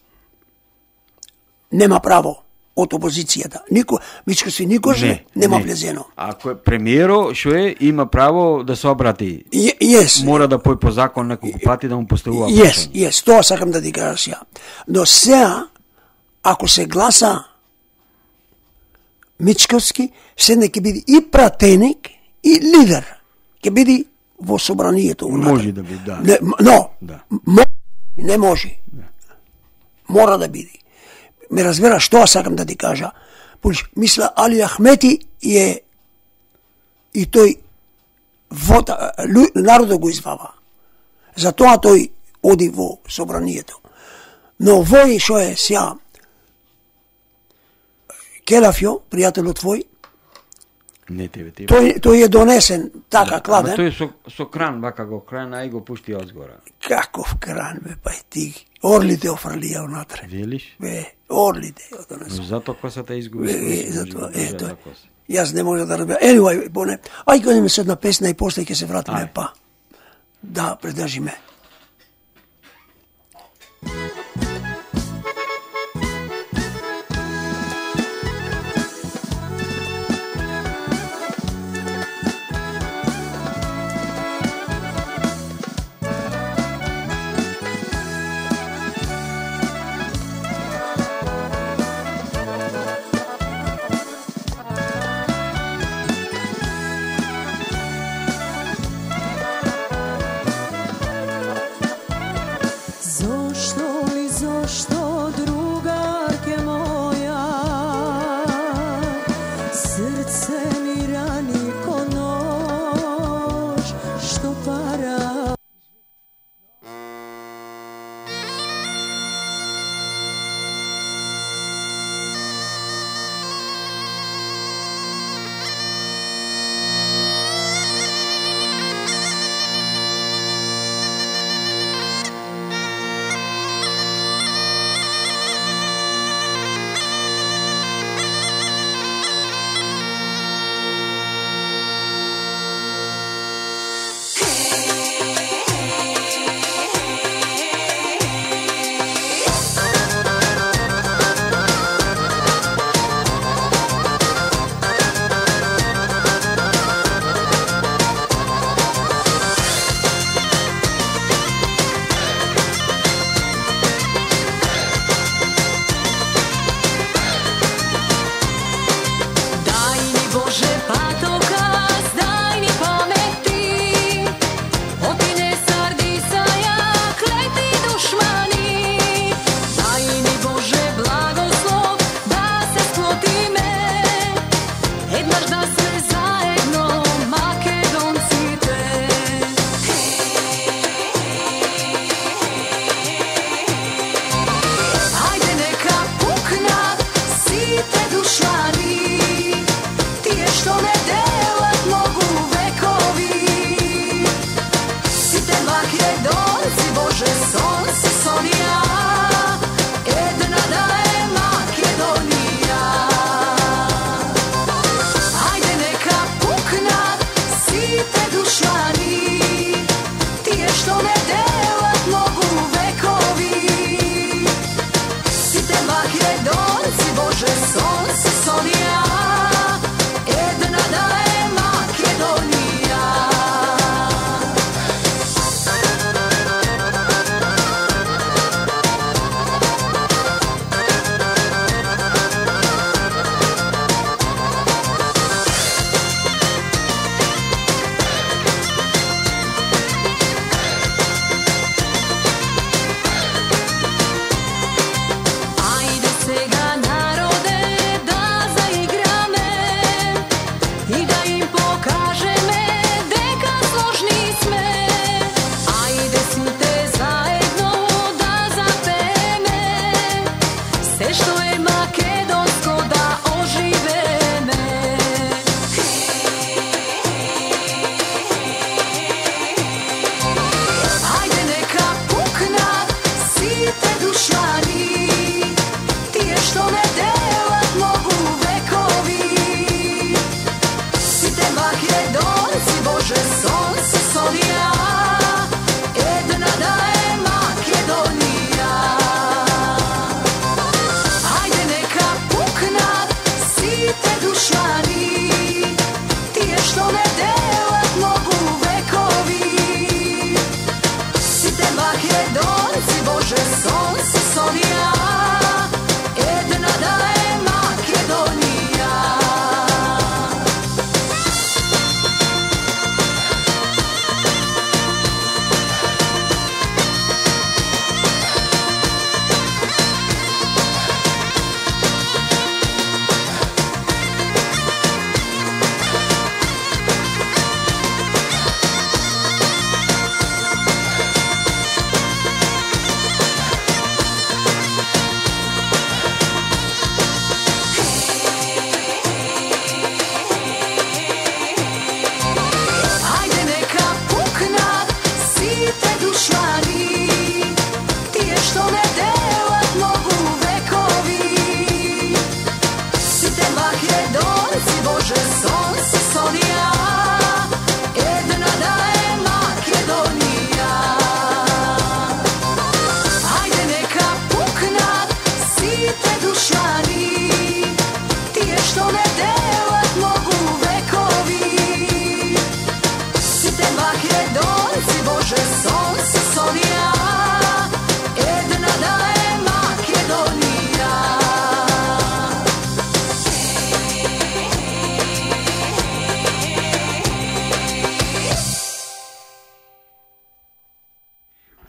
Нема право од опозицијата. Нико, Мичковски никош не, нема влезено. Ако е премиеро, што е, има право да се обрати. Е, Јес, Мора да пој по закон неколку пати да му поставува Јес, јес, тоа сакам да ти кажа сега. Но сега, ако се гласа Мичковски, седне ќе биде и пратеник, и лидер. Ќе биде во собранието. Може да биде, да. Не, м- но, Да. мо, не може. Мора да биде. Ме разбераш што сакам да ти кажа. Пуш, мисля, Али Ахмети е и тој вода, лу- народот го извава. Затоа тој оди во собранието. Но вој што е сега Келафјо, пријателот твој, Не тебе тебе. тој, тој е донесен така Ама кладен. тој со, со кран, вака го крана и го пушти одзгора. Каков кран, бе, па и ти. Орлите офрлија унатре. Велиш? Ве, орлите ја донесо. Зато косата изгуби. Е, свој е, затоа, смисол, е, тоа. коса. Јас не можам да разберам. Anyway, поне, ај ќе одиме со една песна и после ќе се вратиме Ај. па. Да, предржиме.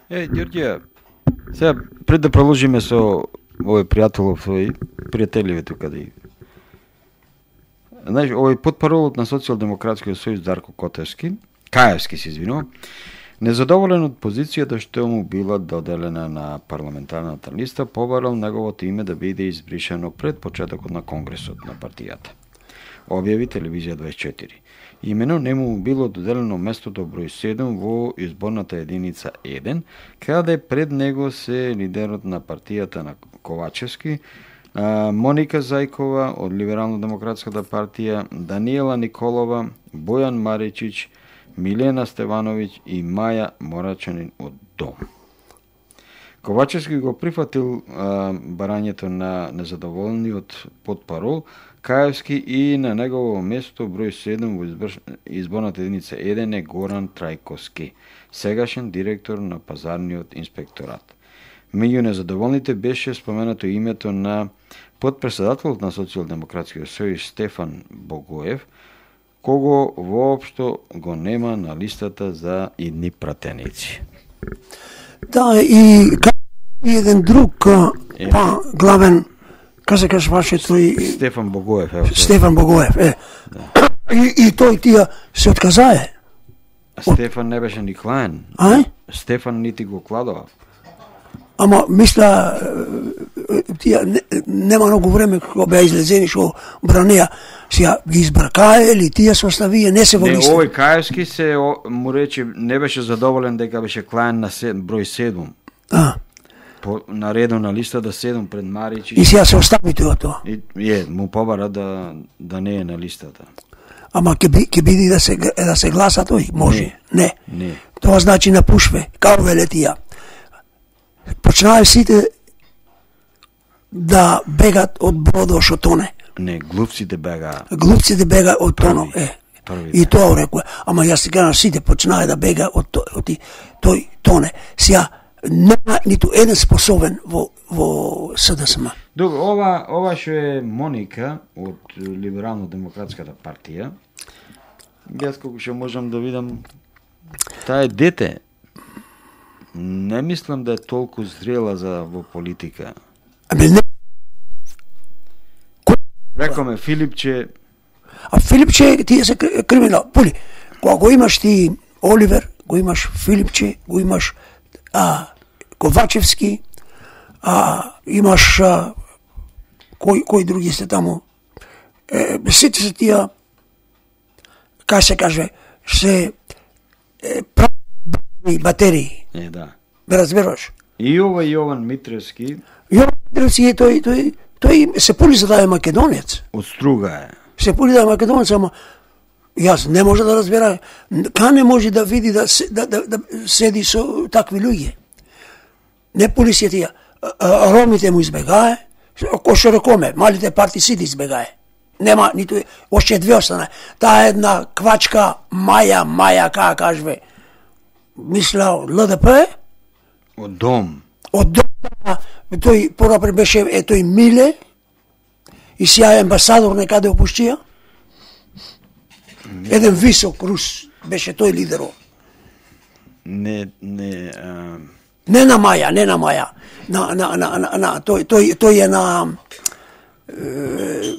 Е, Ѓорѓе, сега пред да продолжиме со овој пријателов свој, пријателиве тука да и... Знаеш, овој потпаролот на Социјалдемократскиот сојуз Дарко Котевски, Каевски се извинувам, незадоволен од позицијата што му била доделена на парламентарната листа, побарал неговото име да биде избришено пред почетокот на конгресот на партијата. Објави Телевизија дваесет и четири. Имено нему било доделено местото број седум во изборната единица еден, каде пред него се лидерот на партијата на Ковачевски, Моника Зајкова од Либерално-демократската партија, Даниела Николова, Бојан Маричич, Милена Стевановиќ и Маја Морачанин од Дом. Ковачевски го прифатил а, барањето на незадоволниот потпарол Каевски и на негово место број седум во избор... изборната единица еден е Горан Трајковски, сегашен директор на пазарниот инспекторат. Меѓу незадоволните беше споменато името на подпредседателот на Социјалдемократскиот сојуз Стефан Богоев, кого воопшто го нема на листата за идни пратеници. Да, и, и еден друг е. па главен, каза каш ваше тој Стефан Богоев, ево. Стефан Богоев, е. Да. И, и тој тија се отказае. Стефан не беше ни клаен. А? Стефан нити го кладува. Ама мисля тија не, нема многу време кога беа излезени што бранеа, сега ги избракае или тие се оставија, не се во листа. Не, овој Каевски се о, му рече не беше задоволен дека беше клаен на се, број седум. А. По наредно на листата седум пред Марич. И сега се остави тоа. И е, му побара да да не е на листата. Ама ќе би ќе биде да се да се гласа тој, може. Не. Не. не. Тоа значи напушве, као велетија. Почнаа сите да бегат од бродот што тоне. Не, глупците бега. Глупците бега од тонов, е. Првите. И тоа рекоа. Ама јас си кажам, сите почнаа да бега од тој, од тој тоне. Сега нема ниту еден способен во во СДСМ. Добро, ова ова што е Моника од Либерално-демократската партија. Јас колку што можам да видам, таа е дете. Не мислам да е толку зрела за во политика. Ами не. Рекоме Филипче. А Филипче тие се криминал. Пули. Кога го имаш ти Оливер, го имаш Филипче, го имаш а, Ковачевски, а имаш а, кој кој други се таму. Е, сите се тие, кај се каже, се е, прави батерии. Е, да. Ме разбираш? И ова Јован Митревски. Јован Митревски тој тој тој се пули за да е македонец. Од Струга е. Се пули да е македонец, ама јас не може да разбера кај не може да види да да да, да седи со такви луѓе. Не пули се тие. Ромите му избегае, кој што рекоме, малите партии сите избегае. Нема ниту още две остана. Таа една квачка Маја, Маја како кажве. Мисля од ЛДП? Од Дом. Од Дом, тој порапре беше е тој Миле и сега е амбасадор некаде опуштија. Еден висок рус беше тој лидерот. Не, не... А... Не на Маја, не на Маја. На, на, на, на, на тој, тој, тој е на... Е,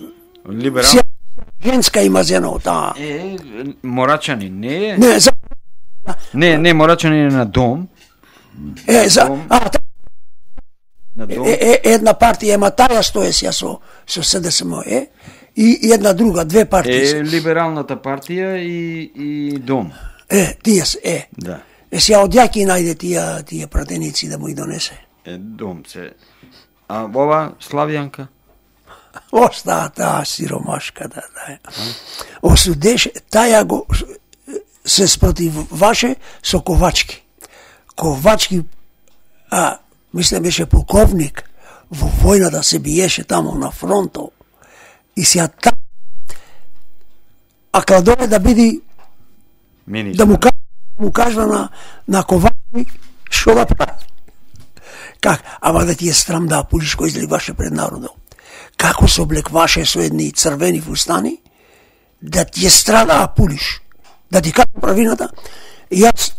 Либерал... Женска има зено, таа. Е, Морачани, не е? Не, за... Не, не, Морачани е на Дом. Е, за... Дом. А, та... На Дом. Е, е, една партија, ема таја стоја сега со, со СДСМ, е? И, и една друга, две партии. Е, Либералната партија и, и Дом. Е, тие се, е. Да. Е, сега од јаки најде тие, тие пратеници да му и донесе. Е, Дом се... А ова, Славјанка? Остаа таа сиромашка, да, да. Осудеше, таја го се спротиваше со Ковачки. Ковачки, а, мислам беше полковник, во војната се биеше тамо на фронтот. И сега та... А кладове да биди... Министр. Да му, му кажва на, на Ковачки што да прави. Как? Ама да ти е срам да пулиш кој изливаше пред народот. Како се облекваше со едни црвени фустани, да ти е страда да пулиш. Да ти кажа правината, јас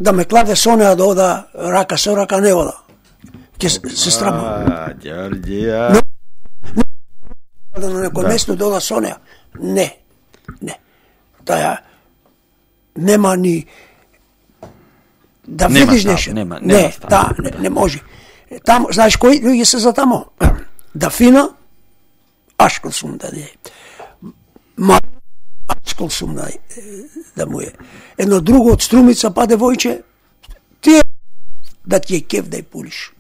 да ме кладе со неа да ода рака со рака не ода. Ке се страмам. А, Ѓорѓија. Да на некој место да ода со неа. Не. Не. Таја нема ни да Нема видиш став, нешто. нема- нема Не, став. да, не, не може. Тамо, знаеш кои луѓе се за тамо? Да фина, ашкол сум да е. Ма, ашкол сум да, да му е. Едно друго од Струмица паде војче, ти да ти е кеф да ја пулиш.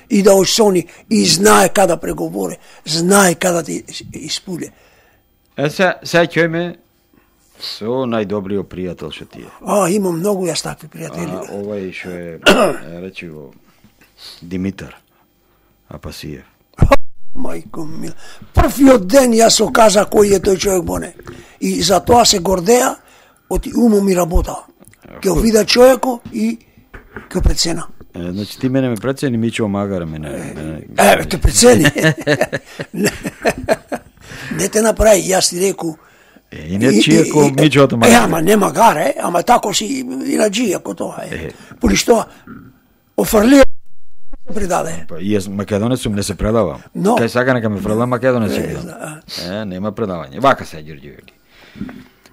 И да осони, и знае када преговоре, знае када ти испуле. Е, се, се ќојме со најдобриот пријател што ти е. А, имам многу јас такви пријатели. А, овај што е, речиво, Димитар Апасиев. Мајко мила. Првиот ден јас се каза кој е тој човек боне. И за тоа се гордеа, оти умом и работа. Ке вида човеко и ке прецена. Е, значи ти мене ме прецени, Мичо Магаре мене. мене... Е, те прецени. Не те направи, јас ти реку. Е, и не чие ко Мичото Е, Магаре. ама не Магаре, ама тако си и на джија ко тоа е. Е. Поли што офрлија придаде. Па, и јас македонец сум, не се предавам. Но- Кај сака нека ме предам македонец Е, ќе бидам. да. Е, нема предавање. Вака се Ѓорѓевели.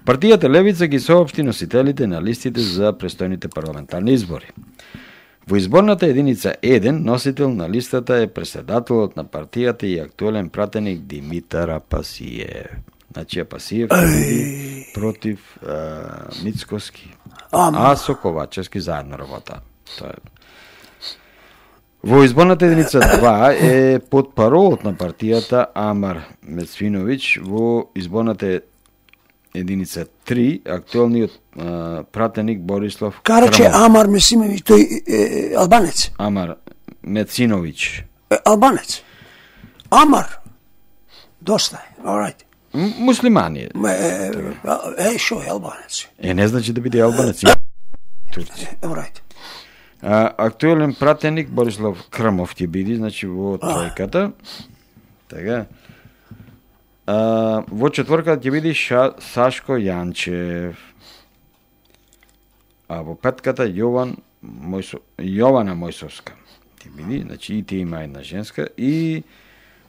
Партијата Левица ги соопшти носителите на листите за престојните парламентарни избори. Во изборната единица еден, носител на листата е председателот на партијата и актуелен пратеник Димитар Апасиев. Значи Апасиев победи против а, Мицкоски, Ама. а со Ковачевски заедно работа. Тоа е. Во изборната единица два е потпаролот на партијата Амар Мецвиновиќ, во изборната единица три актуелниот а, пратеник Борислав Караче Крамов. Амар Месимевиќ, тој е, албанец. Амар Мециновиќ. Е, албанец. Амар. Доста е, alright. М- Муслимани е. Ме, е, е, шо е албанец? Е, не значи да биде албанец. Турци. Alright. А, актуелен пратеник Борислав Крамов ќе биде, значи во тројката. Така. А, во четворката ќе биде Ша, Сашко Јанчев. А во петката Јован Мојсо, Јована Мојсовска. Ќе биде, значи и ти има една женска, и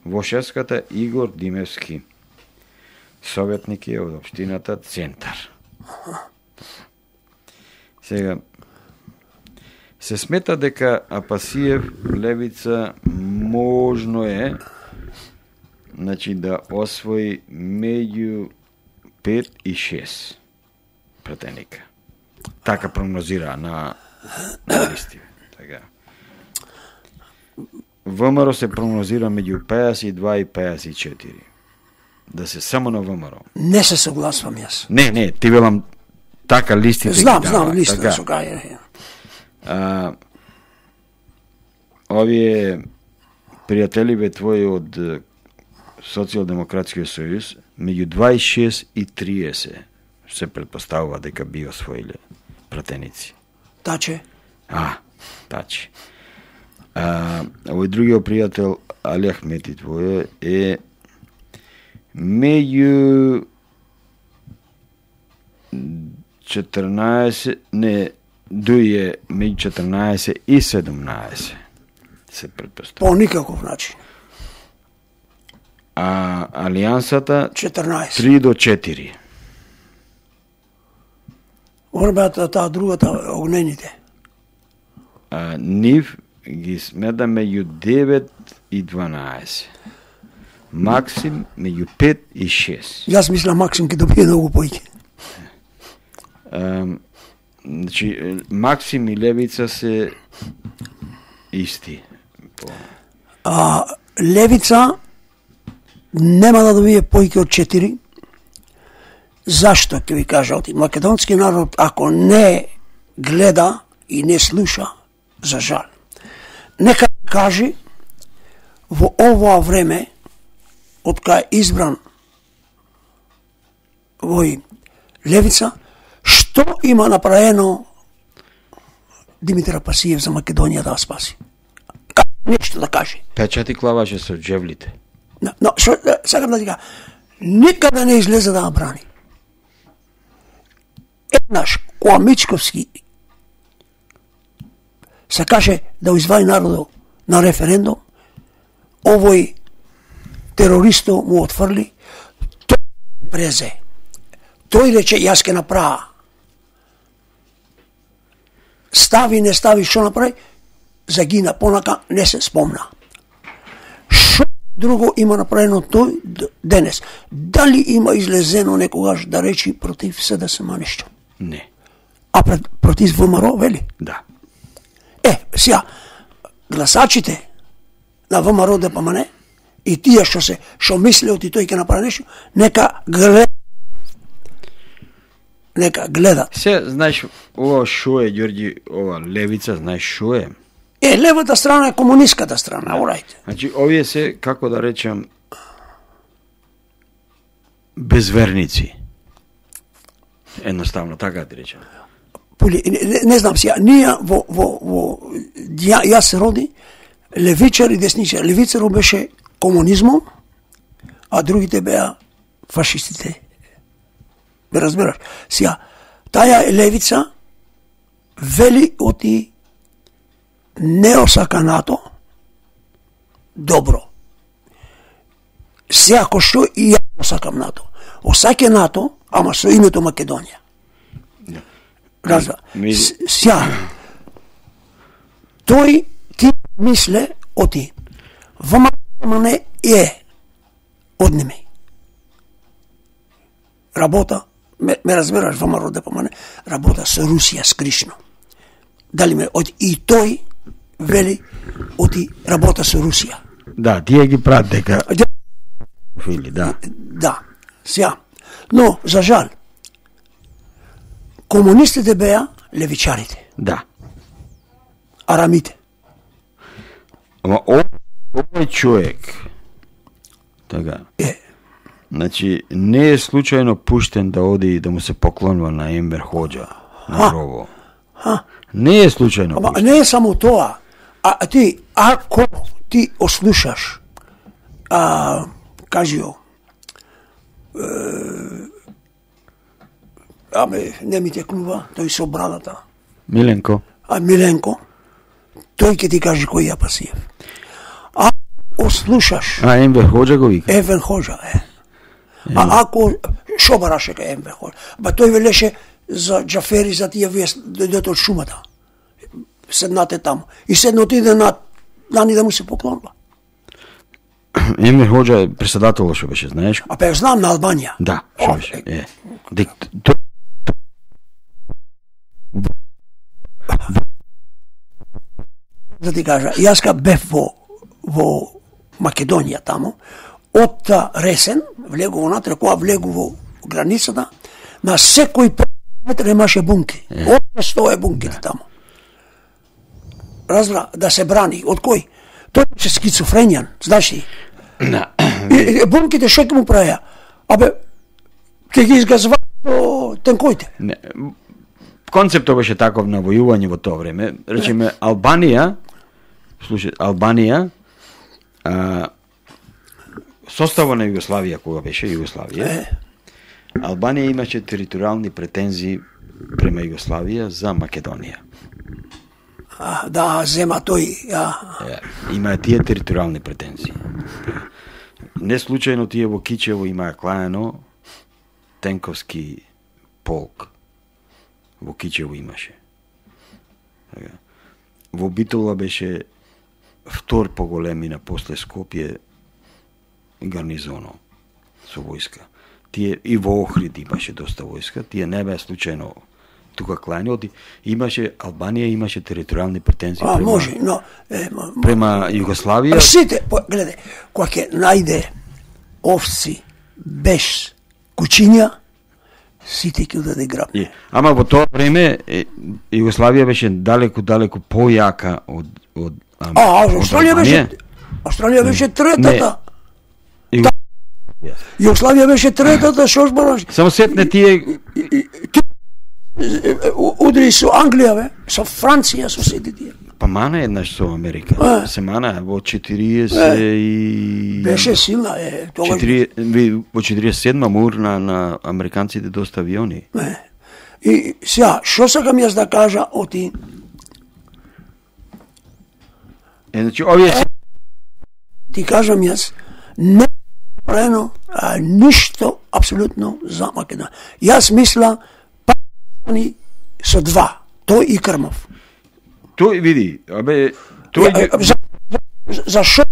во шестката Игор Димевски. Советник е од општината Центар. Сега се смета дека Апасиев Левица можно е, значи да освои меѓу пет и шест пратеника. Така прогнозира на, на листи. Така. ВМРО се прогнозира меѓу пеесет и два и пеесет и четири. Да се само на ВМРО. Не се согласувам јас. Не, не, ти велам така листите ги Знам, дава, знам, листа така. со кај. А, овие пријателиве твои од е, Социјалдемократскиот сојуз меѓу дваесет и шест и триесет се претпоставува дека би освоиле пратеници. Таче. А, тачи. А, овој другиот пријател Али Ахмети твој е меѓу четрнаесет, не, дуј е меѓу четрнаесет и седумнаесет се претпоставува. По никаков начин. А алијансата четрнаесет. три до четири. Орбата таа другата огнените. А, нив ги смета меѓу девет и дванаесет. Максим меѓу пет и шест. Јас мислам Максим ќе добие многу поиќе. Um, значи, Максим и Левица се исти. По... А Левица нема да добие поиќе од четири. Зашто ќе ви кажа, оти македонски народ ако не гледа и не слуша, за жал. Нека кажи во овоа време од кај е избран вој Левица, што има направено Димитар Апасиев за Македонија да ја спаси? Нешто да каже. Печати клаваше со джевлите. Но, но шо, сакам да ти кажа, никада не излезе да брани. Еднаш, кога Мичковски се каже да извади народот на референдум, овој терористо му отфрли, тој презе. Тој рече, јас ке направа. Стави, не стави, што направи, загина, понака не се спомна. Што друго има направено тој денес? Дали има излезено некогаш да речи против СДСМ нешто? Не. А пред, против ВМРО, вели? Да. Е, сега, гласачите на ВМРО ДПМН и тие што се, што мислеот и тој ќе направи нешто, нека гледат. Нека гледат. Се, знаеш, ова шо е, Ѓорѓи, ова левица, знаеш шо е? Е, левата страна е комунистската страна, урајте. Значи, овие се, како да речем, безверници. Едноставно, така да речем. Пули, не, не знам сега, ние во, во, во ја, јас се роди, левичар и десничар. Левицарот беше комунизмом, а другите беа фашистите. Ме разбираш? Сега, таја левица вели оти не осака НАТО, добро. Сега, ко што и ја осакам НАТО. Осаке НАТО, ама со името Македонија. Разбра. Ми... Сега, тој ти мисле оти ВМРО е однеми. Работа, ме, ме разбираш, ВМРО ДПМН работа со Русија скришно. Дали ме од и тој вели оти работа со Русија. Да, тие ги прават дека фили, да. Да. Сега, но за жал комунистите беа левичарите, Да. арамите. Ама о- овој човек, така, Е, значи, не е случајно пуштен да оди и да му се поклонува на Ембер Хоџа, на гробо. Не е случајно ама пуштен. не е само тоа. А, а ти, ако ти ослушаш, а, кажио, е, аме, не ми текнува, тој со брадата, Миленко, а Миленко, тој ќе ти каже кој ја Пасиев. А ослушаш а Ембер Хоџа го вика. Евен Хоџа, е. А ако, шо бараше кај Евен Хоџа? Ба тој велеше за Џафери, за тие вие дојдете од шумата. Седнате таму. И седно отиде на Нани да му се поклонува. Ембер Хоџа е председател што беше, знаеш? А па ја знам на Албанија. Да, О, што беше. е. Е. Дик, то... Да ти кажа, јас ка бев во, во Македонија таму, од Ресен, влегу внатре, кога влегу во границата, на секој метр имаше бунки. Од сто е бунките таму. Разбра, да се брани. Од кој? Тој беше скицофренијан, знаеш ли? И, и бунките што ќе му правеа? Абе, ќе ги изгазваа до тенкоите. Не, концептот беше таков на војување во тоа време. Речеме, Албанија, слушай, Албанија, а, состава на Југославија, кога беше Југославија, Е. Албанија имаше територијални претензии према Југославија за Македонија. А, да, зема тој, а, Е, имаа тие територијални претензии. Не случајно тие во Кичево имаа клаено тенковски полк. Во Кичево имаше. Така. Во Битола беше втор по големина после Скопје гарнизоно со војска. Тие и во Охрид имаше доста војска, тие не беа случајно тука клајни, оди имаше Албанија имаше територијални претензии а према, може, но, е, ма, према Југославија. сите, по, гледај, кога ќе најде овци без кучиња, сите ќе даде граб. И, ама во тоа време е, Југославија беше далеку далеку појака од од А, а Австралија беше, Австралија беше третата. И, Југославија беше третата, што збораш? само сетне тие Удри со Англија, бе, со Франција, со сите тие. па мана еднаш со Америка. А. Се мана во четириесет и Беше силна, е, тогаш. четириесет ви- во четириесет и седма мур на, на американците доста авиони. Е. И сега, што сакам јас да кажа оти Е, значи, овие се... Ти кажам јас, не направено а, ништо апсолутно за Македонија. Јас мисла партизани со два, тој и Крмов. Тој, види, абе, тој... Ја, за, за, за шо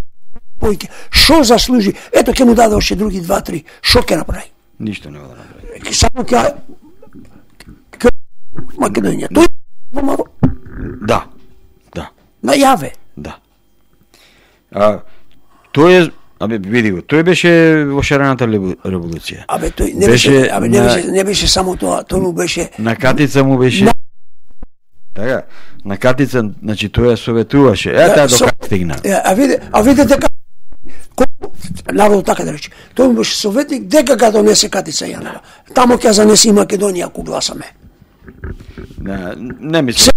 појке, шо заслужи, ето ќе му даде още други два-три, шо ќе направи? Ништо нема да направи. Само ќе ќе Македонија. Тој во Маро... Да, да, најаве. да. А, тој е, абе, види го, тој беше во шарената револуција. Абе тој не Беше беше, абе не на- беше, не беше само тоа, тој му беше На катица му беше... Така, на катица, значи, тој ја советуваше. Е, таа до со- кај стигна. Е, а виде, а видите како колку народот така да рече. Тој му беше советник дека ga донесе Катица Јанова. Тамо ќе занеси и Македонија ако гласаме. Не, не мислам.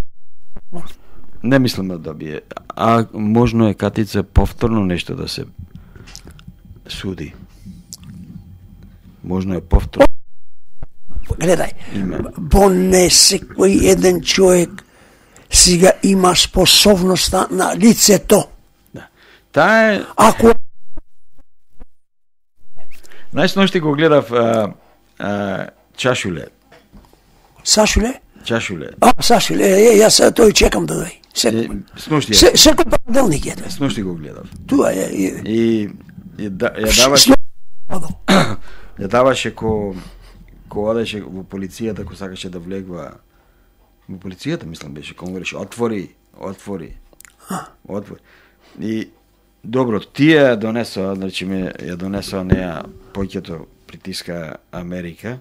Не мислам да добие. А можно е Катица повторно нешто да се суди. Можно е повторно. Гледај, Има. бо не секој еден човек сега има способноста на лицето. Да. Таа е... Ако Знаеш, ношти го гледав а, а, Чашуле. Сашуле, Чашуле. а Сашуле, е, јас тој чекам да дојде. Е, Секој, Сношти, се, секој понеделник е. сношти го гледав. Туа е. е, И, и да, ја даваше, Сно- ја даваше ко ко одеше во полицијата, ко сакаше да влегва во полицијата, мислам беше, кога му рече отвори, отвори. Отвори. И добро, тие ја донесоа, значи ме ја донесоа неа поќето притиска Америка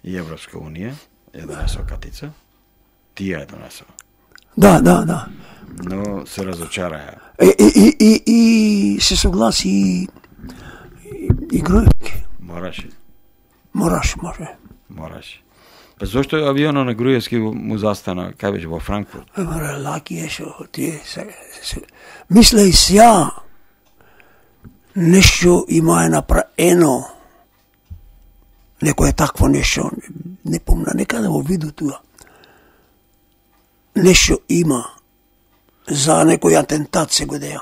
и Европска унија, ја донесоа Катица. Тие ја донесоа. Да, да, да. Но се разочараја. И, и, и, и се согласи и, и, и Груевски. Мораше, Мораш, може. мораше. Па зошто авионот на Груевски му застана, кај беше во Франкфурт? Море, лаки е шо тие се, се. Мисля и сја нешто има е направено. Некој е такво нешто, не помна, некаде во виду туа. Нешто има за некој атентат се годеја.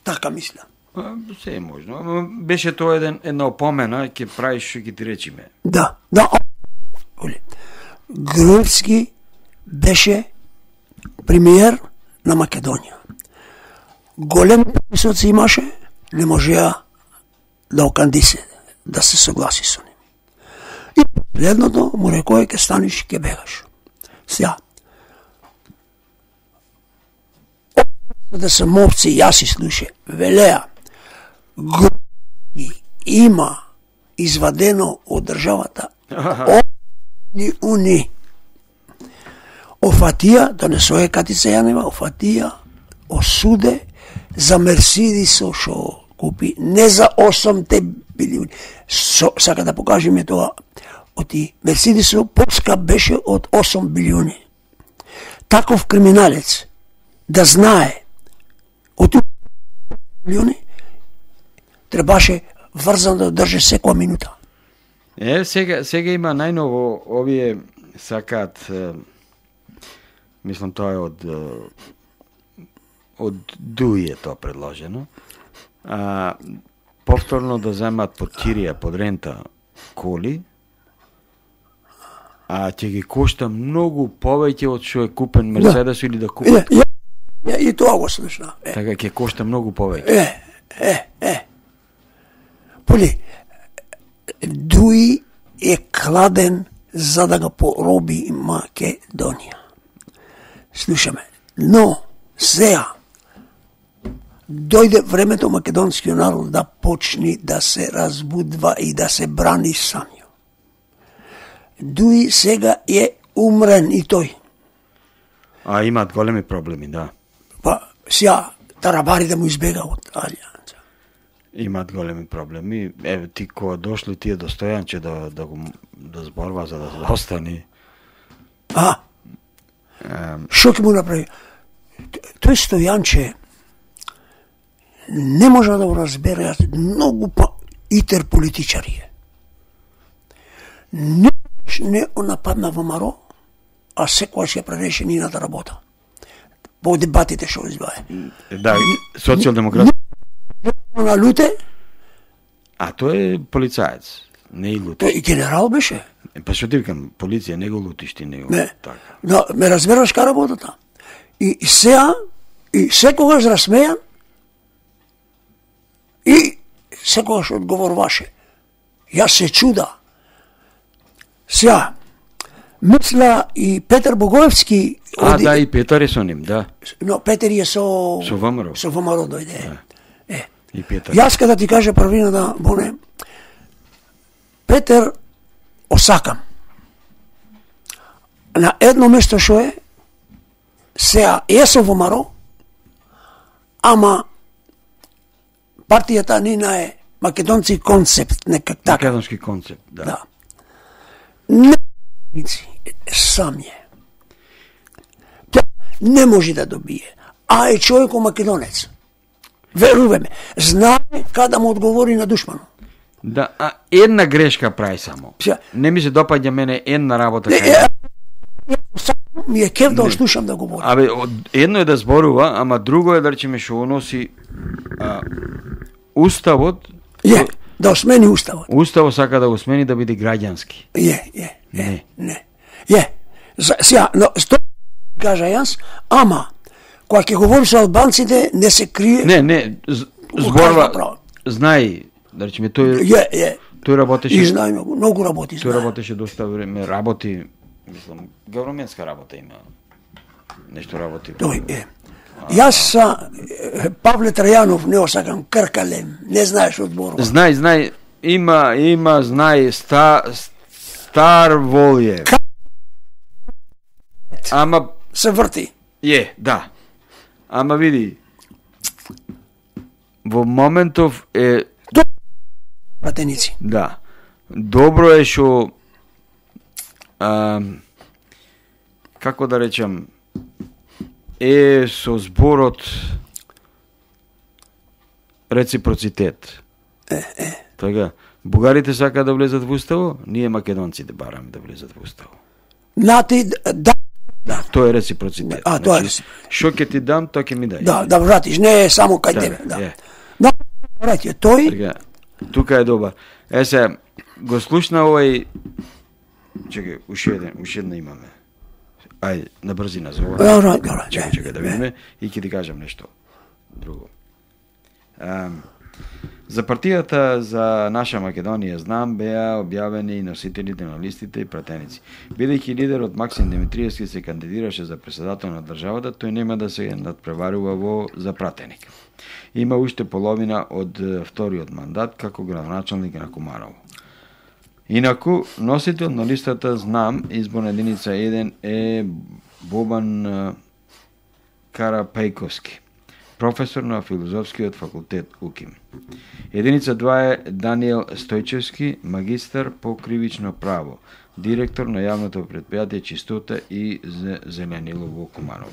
Така мисля. А, се е можно. Ама беше тоа еден една опомена, ќе правиш што ќе ти речиме. Да, да. Оле. Груевски беше премиер на Македонија. Големи присоци имаше, не можеа да окандисе, да се согласи со ним. И последното му рекој ќе станеш, ќе бегаш. Сега, да се мовци, јас и слуше, велеа, Груевски има извадено од државата Ни уни. Офатија, донесоe Катица Јанева, офатија, осуде за Мерседисо шо купи, не за осумте билиони. Со, сака да покажеме тоа, оти Мерседисо поскап беше од осум билиони. Таков криминалец да знае од билиони требаше врзан да држи секоја минута. Е, сега, сега има најново, овие сакаат, е, мислам тоа е од е, од Дуи е тоа предложено, а, повторно да земат под кирија, под рента коли, а ќе ги кошта многу повеќе од што е купен Мерседес или да купи. Е, ја, ја, и тоа го слушна. Е, Така ќе кошта многу повеќе. е, е, е. Поли, Дуи е кладен за да го пороби Македонија. Слушаме. Но, сега, дојде времето македонскиот народ да почни да се разбудва и да се брани самиот. Дуи сега е умрен и тој. А имаат големи проблеми, да. Па, сега, тарабари да му избега од Алијанца. Имаат големи проблеми. Еве ти кога дошло тие до Стојанче да да го да зборува за да остани. А, Ем, шо ќе му направи? Тој Стојанче не може да го разбере многу па итер политичари е. Никогаш не нападна во Маро, а секогаш ја пререшенината работа. по дебатите што избаве. Да, социјалдемократ. На Луте, А тој е полицаец, не и лутиш. тој и генерал беше. Па што ти викам, полиција не го лутиш ти, не го. Не. Така. Да, ме разбираш ка работата. И, и сега, и секогаш разсмејан, и секогаш одговоруваше. Јас се чуда. Сега, мисла и Петар Богоевски... А, оди- да, и Петар е со ним, да. Но Петер е со... Со ВМРО. Со ВМРО дојде. Е. И Петар. Јас када ти кажа првина да боне, Петер осакам. На едно место што е, сега е со ВМРО, ама партијата нина е македонци концепт, некак така. Македонски концепт, да. Да. Не, сам е. Тя не може да добие. А е човеко македонец. Веруваме. ме. Знае када му одговори на душману. Да, а една грешка прави само. Сега- Не ми се допаѓа мене една работа Не, кај. е, сам ми е кев да ослушам да говори. Абе, од- едно е да зборува, ама друго е да речеме што уноси а, уставот. Е, да осмени уставот. Уставот сака да го смени да биде граѓански. Е, е, е, Не. не. Е, за- сега, но, сто кажа јас, ама, кога ќе говори со албанците, не се крие. Не, не, з- Кажа зборува, право. знај, да речеме, тој, Е, е. тој работеше, И знае многу, многу работи, тој знае. работеше доста време, работи, мислам, гавроменска работа има. Нешто работи. Тој е. Јас са е, Павле Трајанов, не осакам, кркалем, не знаеш одборува. Знај, знај, има, има, знај, ста, стар волје. Ама, Се врти. е, да. Ама види, во моментов е, Пратеници. да, добро е што, а, како да речам, е со зборот реципроцитет. Е, е. Така, бугарите сакаат да влезат во уставо, ние македонците бараме да влезат во уставо. Нати, да, да, Тоа е реципроцитет. А, тоа е Значи, што ќе ти дам, тоа ќе ми дај. да, да вратиш, не е само кај Да, тебе, да. е. Да, врати, тој, Така, тука е добар. Е се, го слушна овој... Чекај, уште еден, уште една имаме. Ајде, на брзина за ова. Добро, добро, Чекај, е, чекај да видиме и ќе ти кажам нешто друго. А, за партијата за наша Македонија знам беа објавени и носителите на листите и пратеници. Бидејќи лидерот Максим Димитриевски се кандидираше за председател на државата, тој нема да се надпреварува во за пратеник. Има уште половина од е, вториот мандат како градоначалник на Куманово. Инаку, носител на листата Знам, изборна единица еден е Бобан е, Карапајковски, професор на филозофскиот факултет УКИМ. Единица два е Даниел Стојчевски, магистар по кривично право, директор на јавното предпријатие Чистота и зеленило во Куманово.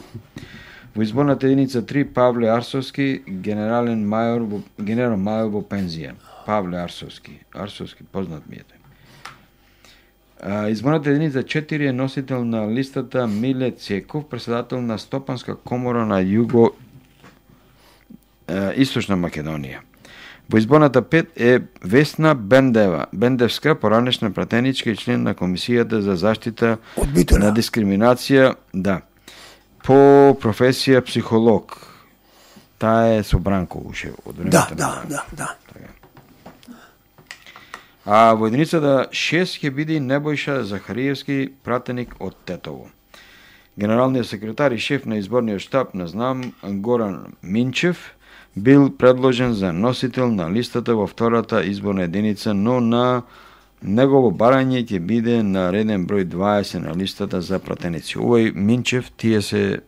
Во изборната единица три Павле Арсовски, генерален мајор во, генерал мајор во пензија. Павле Арсовски, Арсовски познат ми е тој. А, изборната единица четири е носител на листата Миле Цеков, председател на Стопанска комора на Југо е, Источна Македонија. Во изборната пет е Весна Бендева, Бендевска, поранешна пратеничка и член на Комисијата за заштита Од Битола. на дискриминација, да, по професија психолог. Таа е со Бранко уште од времето. да, на да, Бранко. да, да. А во единицата шест ќе биде Небојша Захариевски, пратеник од Тетово. Генералниот секретар и шеф на изборниот штаб на Знам Горан Минчев бил предложен за носител на листата во втората изборна единица, но на негово барање ќе биде на реден број дваесет на листата за пратеници. Овој Минчев, тие се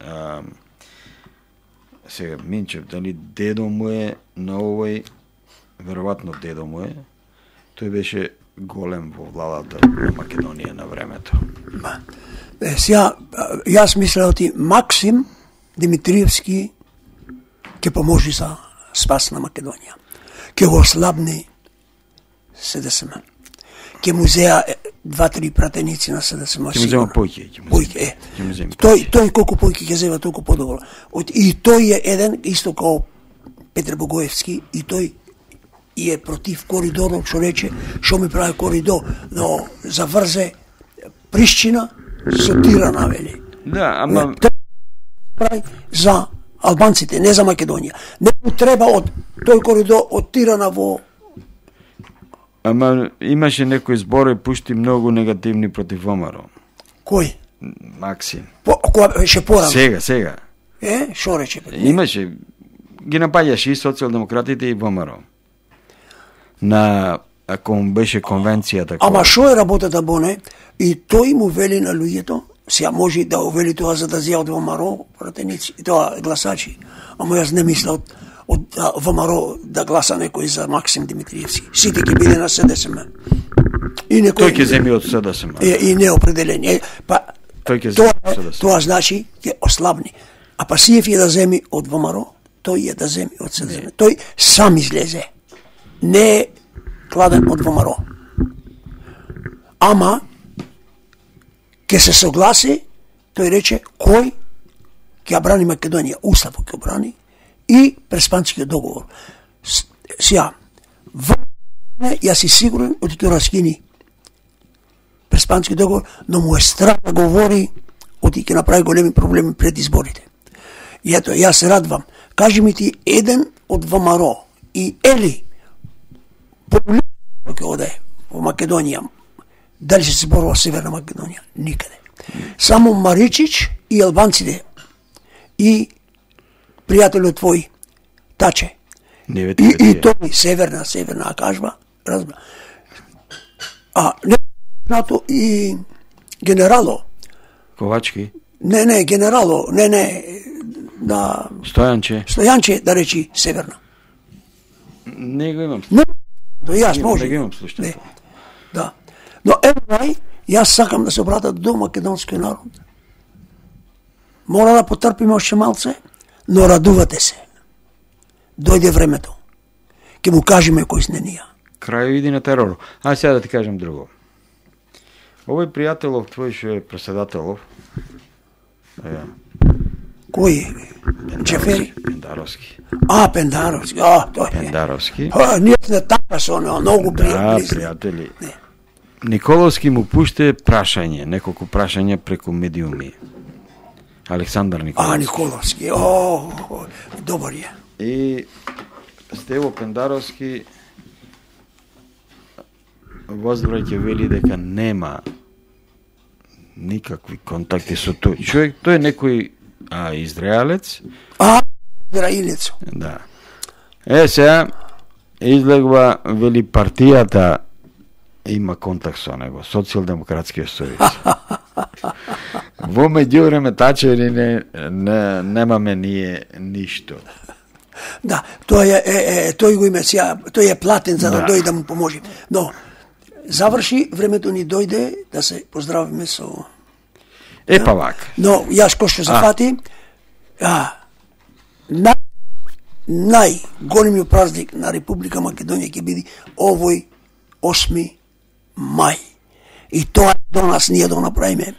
а, сега Минчев, дали дедо му е на овој, веројатно дедо му е, тој беше голем во владата на Македонија на времето. Ба. Е, сега, а, јас мислео ти Максим Димитриевски ќе поможи за спас на Македонија. Ќе го ослабни СДСМ. Ќе му зеа два-три пратеници на СДСМ. Ќе му зема појќе, ќе му Појќе, зема. е. Ќе му зема Тој, појќе. тој колку појќе ќе зема, толку подобро. Од- И тој е еден, исто као Петре Богоевски, и тој и е против коридорот, што рече, што ми прави коридор, но заврзе Пришчина со Тирана, вели. Да, ама Тој прави за албанците, не за Македонија. Не му треба од тој коридор од Тирана во ама имаше некои зборови пушти многу негативни против ВМРО. кој? Максим. По, која беше порано? Сега, сега. Е, што рече? бе? Имаше ги напаѓаше и социјалдемократите и ВМРО. На ако му беше конвенцијата. Ама која- што е работата Боне? И тој му вели на луѓето, сега може да го вели тоа за да зија од ВМРО пратеници, тоа гласачи. Ама јас не мисля од, од а, ВМРО да гласа некој за Максим Димитриевски. Сите ќе биде на СДСМ. И некој Тој ќе земи од СДСМ. е, и неопределени. Е, па Тој ќе тоа, земи од СДСМ. тоа значи ќе ослабни. А Пасиев е да земи од ВМРО, тој е да земи од СДСМ. Тој сам излезе. Не е кладен од ВМРО. Ама ќе се согласи, тој рече кој ќе ја брани Македонија, уставот ќе ја брани и Преспанскиот договор. С- Сија, во јас си сигурен од ќе раскини Преспански договор, но му е страх да говори од ќе направи големи проблеми пред изборите. И ето, јас се радвам. Кажи ми ти еден од ВМРО и Ели ќе оде во Македонија, дали се зборува Северна Македонија? Никаде. Само Маричич и албанците и пријателот твој Таче. Не И, вети и тој северна, северна кажба, разбра. А не нато и генерало. Ковачки, Не, не, генерало, не, не, да Стојанче, Стојанче да речи северна. не го имам. Не, до јас Не може. го имам слушањето. Не. Да. Но евај, јас сакам да се обратат до македонскиот народ. Мора да потрпиме още малце, но радувате се. Дојде времето. Ќе му кажеме кој сме ние. Крај иди на терор. А сега да ти кажам друго. Овој пријателов твој што е преседателов, е, Кој е? Джефери? Пендаровски. А, Пендаровски. А, тој е. Пендаровски. А, ние сме така со него, многу Да, пријатели. пријатели. Не. Николовски му пуште прашање, неколку прашања преку медиуми. Александар А, Николовски. Николовски. О, о, добар е. И Стево Пендаровски возвраќа вели дека нема никакви контакти со тој човек. Тој е некој а, израелец. А, Израилецо. Да. Е, сега излегва, вели, партијата има контакт со него, Социјалдемократскиот сојуз. Во меѓувреме тачери не, не, немаме ние ништо. Да, тој е, е, е тој го има сега, тој е платен за да, Да. дојде да му поможи. Но заврши, времето ни дојде да се поздравиме со. Е, па вака. Но јас кој што зафати, а, на најголемиот празник на Република Македонија ќе биде овој осми мај. И тоа до нас ние да го направиме.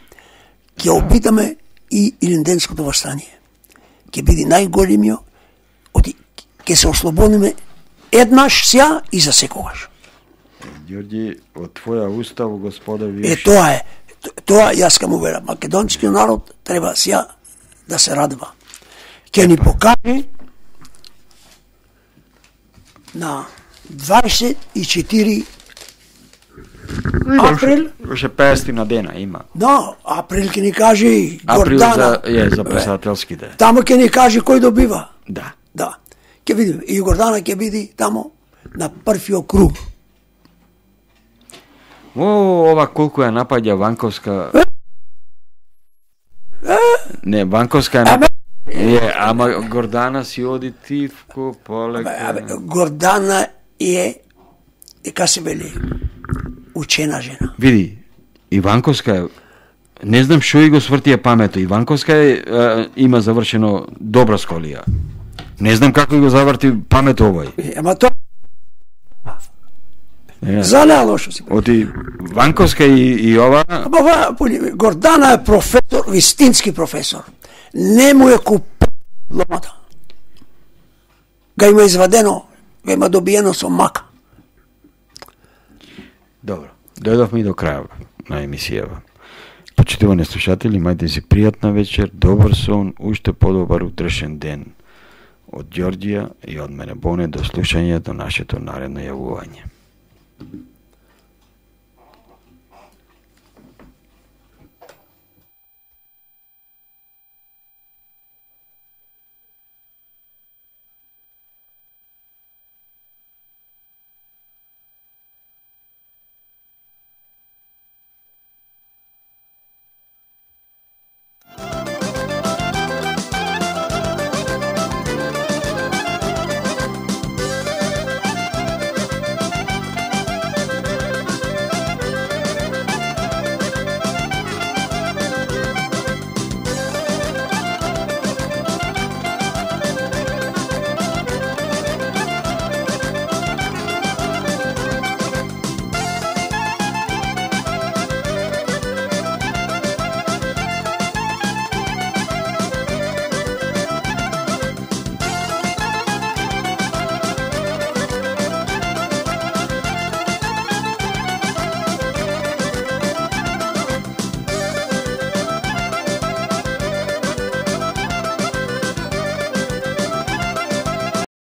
Ќе обидаме и Илинденското востание. Ќе биде најголемиот, оти ќе се ослободиме еднаш сега и за секогаш. Ѓорѓи, од твоја устав, господа, Е, виш, тоа е. Т- Тоа јас ка му верам. Македонскиот народ треба сега да се радува. Ќе ни покаже на дваесет и четири април, Ше петстотини на дена има. да, април ќе ни каже и Април Гордана. за, е, за председателските. Тамо ќе ни каже кој добива. Да. Да. Ќе видиме. И Гордана ќе биде тамо на првиот круг. О, ова колку ја напаѓа Ванковска. Не, Ванковска е Ама- напаѓа. Е, ама Гордана си оди тивко, полека. Абе, Гордана е, дека се вели, учена жена. Види, Иванковска е, не знам што и го свртија памето. Иванковска е, е, има завршено добра школија. Не знам како и го заврти памет овој. Е, Ама тоа Е. За најлошо си. Оти Ванковска и, и ова... Ама Гордана е професор, вистински професор. Не му е купен дипломата. Га има извадено, га има добиено со мака. Добро, дојдовме и до крајава на емисијава. Почитувани слушатели, имајте си пријатна вечер, добар сон, уште подобар утрешен ден. Од Ѓорѓија и од мене Боне до слушање до нашето наредно јавување.